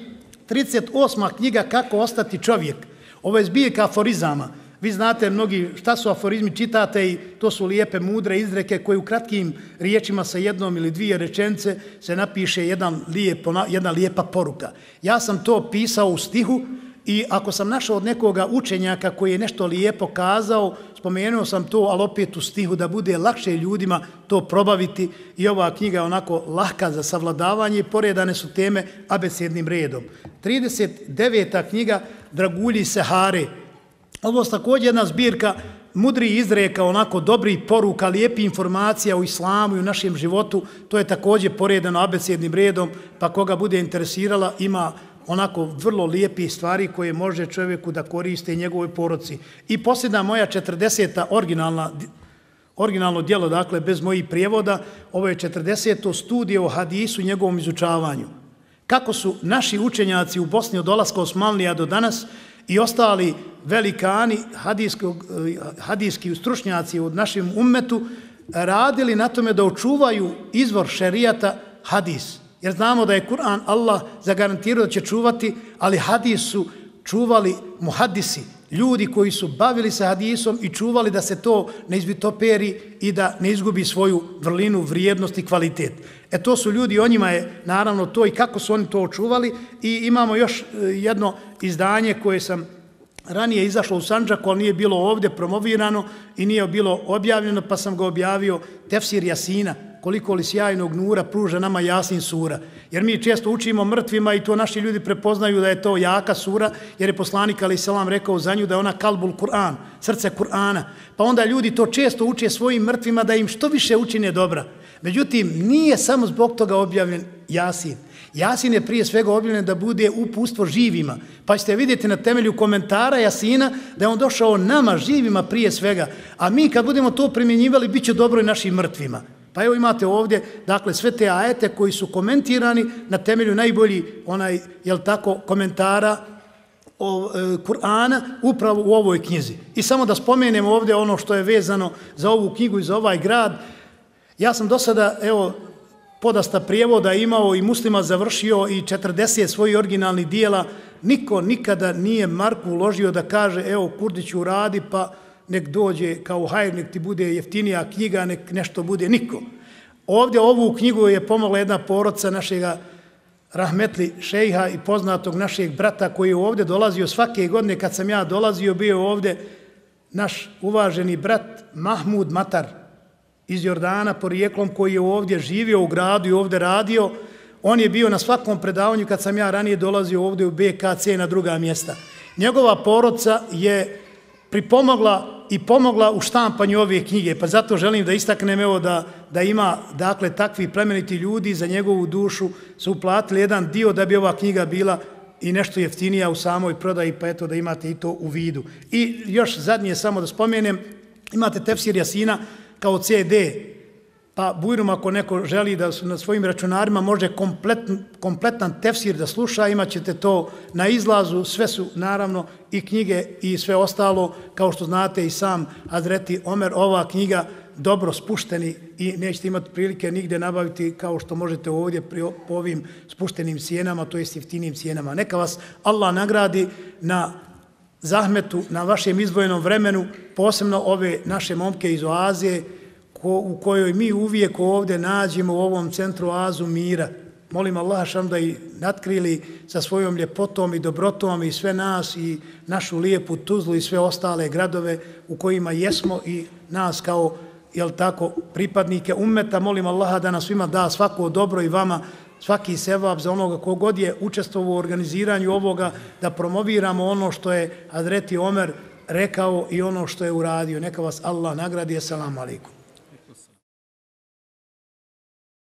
trideset osma knjiga Kako ostati čovjek. Ovo je zbirka aforizama. Vi znate mnogi šta su aforizmi, čitate i to su lijepe, mudre izreke koje u kratkim riječima sa jednom ili dvije rečenice se napiše jedan lijep, jedna lijepa poruka. Ja sam to pisao u stihu i ako sam našao od nekoga učenjaka koji je nešto lijepo kazao, spomenuo sam to, ali opet u stihu da bude lakše ljudima to probaviti i ova knjiga je onako lahka za savladavanje i poredane su teme abecednim redom. trideset deveta knjiga Dragulji Sehare. Ovo je također jedna zbirka mudri izreka, onako dobrih poruka, lijepi informacija o islamu i u našem životu. To je također poredano abecednim redom, pa koga bude interesirala ima onako vrlo lijepi stvari koje može čovjeku da koriste i njegovoj porodci. I posljedna moja četrdeseta originalna originalno djelo, dakle bez mojih prijevoda, ovo je četrdeseto studije o hadisu i njegovom izučavanju. Kako su naši učenjaci u Bosni od dolaska Osmanlija do danas i ostali velikani hadijski stručnjaci u našem ummetu radili na tome da očuvaju izvor šerijata hadis. Jer znamo da je Kur'an Allah zagarantirao da će čuvati, ali hadis su čuvali muhadisi, ljudi koji su bavili se hadisom i čuvali da se to ne izvitoperi i da ne izgubi svoju vrlinu, vrijednost i kvalitet. E to su ljudi, o njima je naravno to i kako su oni to očuvali. I imamo još jedno izdanje koje sam ranije izašlo u Sandžaku, ali nije bilo ovdje promovirano i nije bilo objavljeno, pa sam ga objavio, Tefsir Jasina, koliko li sjajnog nura pruža nama Jasin sura. Jer mi često učimo mrtvima i to naši ljudi prepoznaju da je to jaka sura, jer je poslanik alejhi selam rekao za nju da je ona kalbul Kur'an, srce Kur'ana. Pa onda ljudi to često uče svojim mrtvima da im što više učine dobra. Međutim, nije samo zbog toga objavljen Jasin. Jasin je prije svega objavljen da bude upustvo živima. Pa ćete vidjeti na temelju komentara Jasina da je on došao nama živima prije svega. A mi kad budemo to primjenjivali, bit će dobro i našim mrtvima. Pa evo imate ovdje, dakle, sve te ajete koji su komentirani na temelju najbolji, onaj, jel tako, komentara o, e, Kur'ana upravo u ovoj knjizi. I samo da spomenem ovdje ono što je vezano za ovu knjigu i za ovaj grad. Ja sam do sada, evo, podasta prijevoda imao i muslima završio i četrdeset svojih originalnih dijela. Niko nikada nije marku uložio da kaže, evo, Kurdiću radi, pa nek dođe kao hajr, nek ti bude jeftinija knjiga, nek nešto bude, niko. Ovdje ovu knjigu je pomogla jedna porodca našega rahmetli šejha i poznatog našeg brata koji je ovdje dolazio svake godine. Kad sam ja dolazio, bio ovdje naš uvaženi brat Mahmud Matar iz Jordana porijeklom, koji je ovdje živio u gradu i ovdje radio. On je bio na svakom predavanju kad sam ja ranije dolazio ovdje u B K C na druga mjesta. Njegova porodca je pripomogla i pomogla u štampanju ove knjige, pa zato želim da istaknem evo da, da ima, dakle, takvi plemeniti ljudi za njegovu dušu su uplatili jedan dio da bi ova knjiga bila i nešto jeftinija u samoj prodaji, pa eto da imate i to u vidu. I još zadnje samo da spomenem, imate Tefsir Jasina kao C D, pa bujrum ako neko želi da na svojim računarima može kompletan, kompletan tefsir da sluša, imat ćete to na izlazu, sve su naravno i knjige i sve ostalo, kao što znate i sam Hazreti Omer, ova knjiga dobro spušteni i nećete imati prilike nigde nabaviti kao što možete ovdje po ovim spuštenim cijenama, to jest jeftinim cijenama. Neka vas Allah nagradi na zahmetu, na vašem izdvojenom vremenu, posebno ove naše momke iz oaze, u kojoj mi uvijek ovdje nađemo u ovom centru oazu mira. Molim Allah šam da i natkrili sa svojom ljepotom i dobrotom i sve nas i našu lijepu Tuzlu i sve ostale gradove u kojima jesmo i nas kao, jel tako, pripadnike ummeta. Molim Allaha da nas svima da svako dobro i vama svaki sevap za onoga kogod je učestvovao u organiziranju ovoga, da promoviramo ono što je Hazreti Omer rekao i ono što je uradio. Neka vas Allah nagradi. Assalamu alaikum.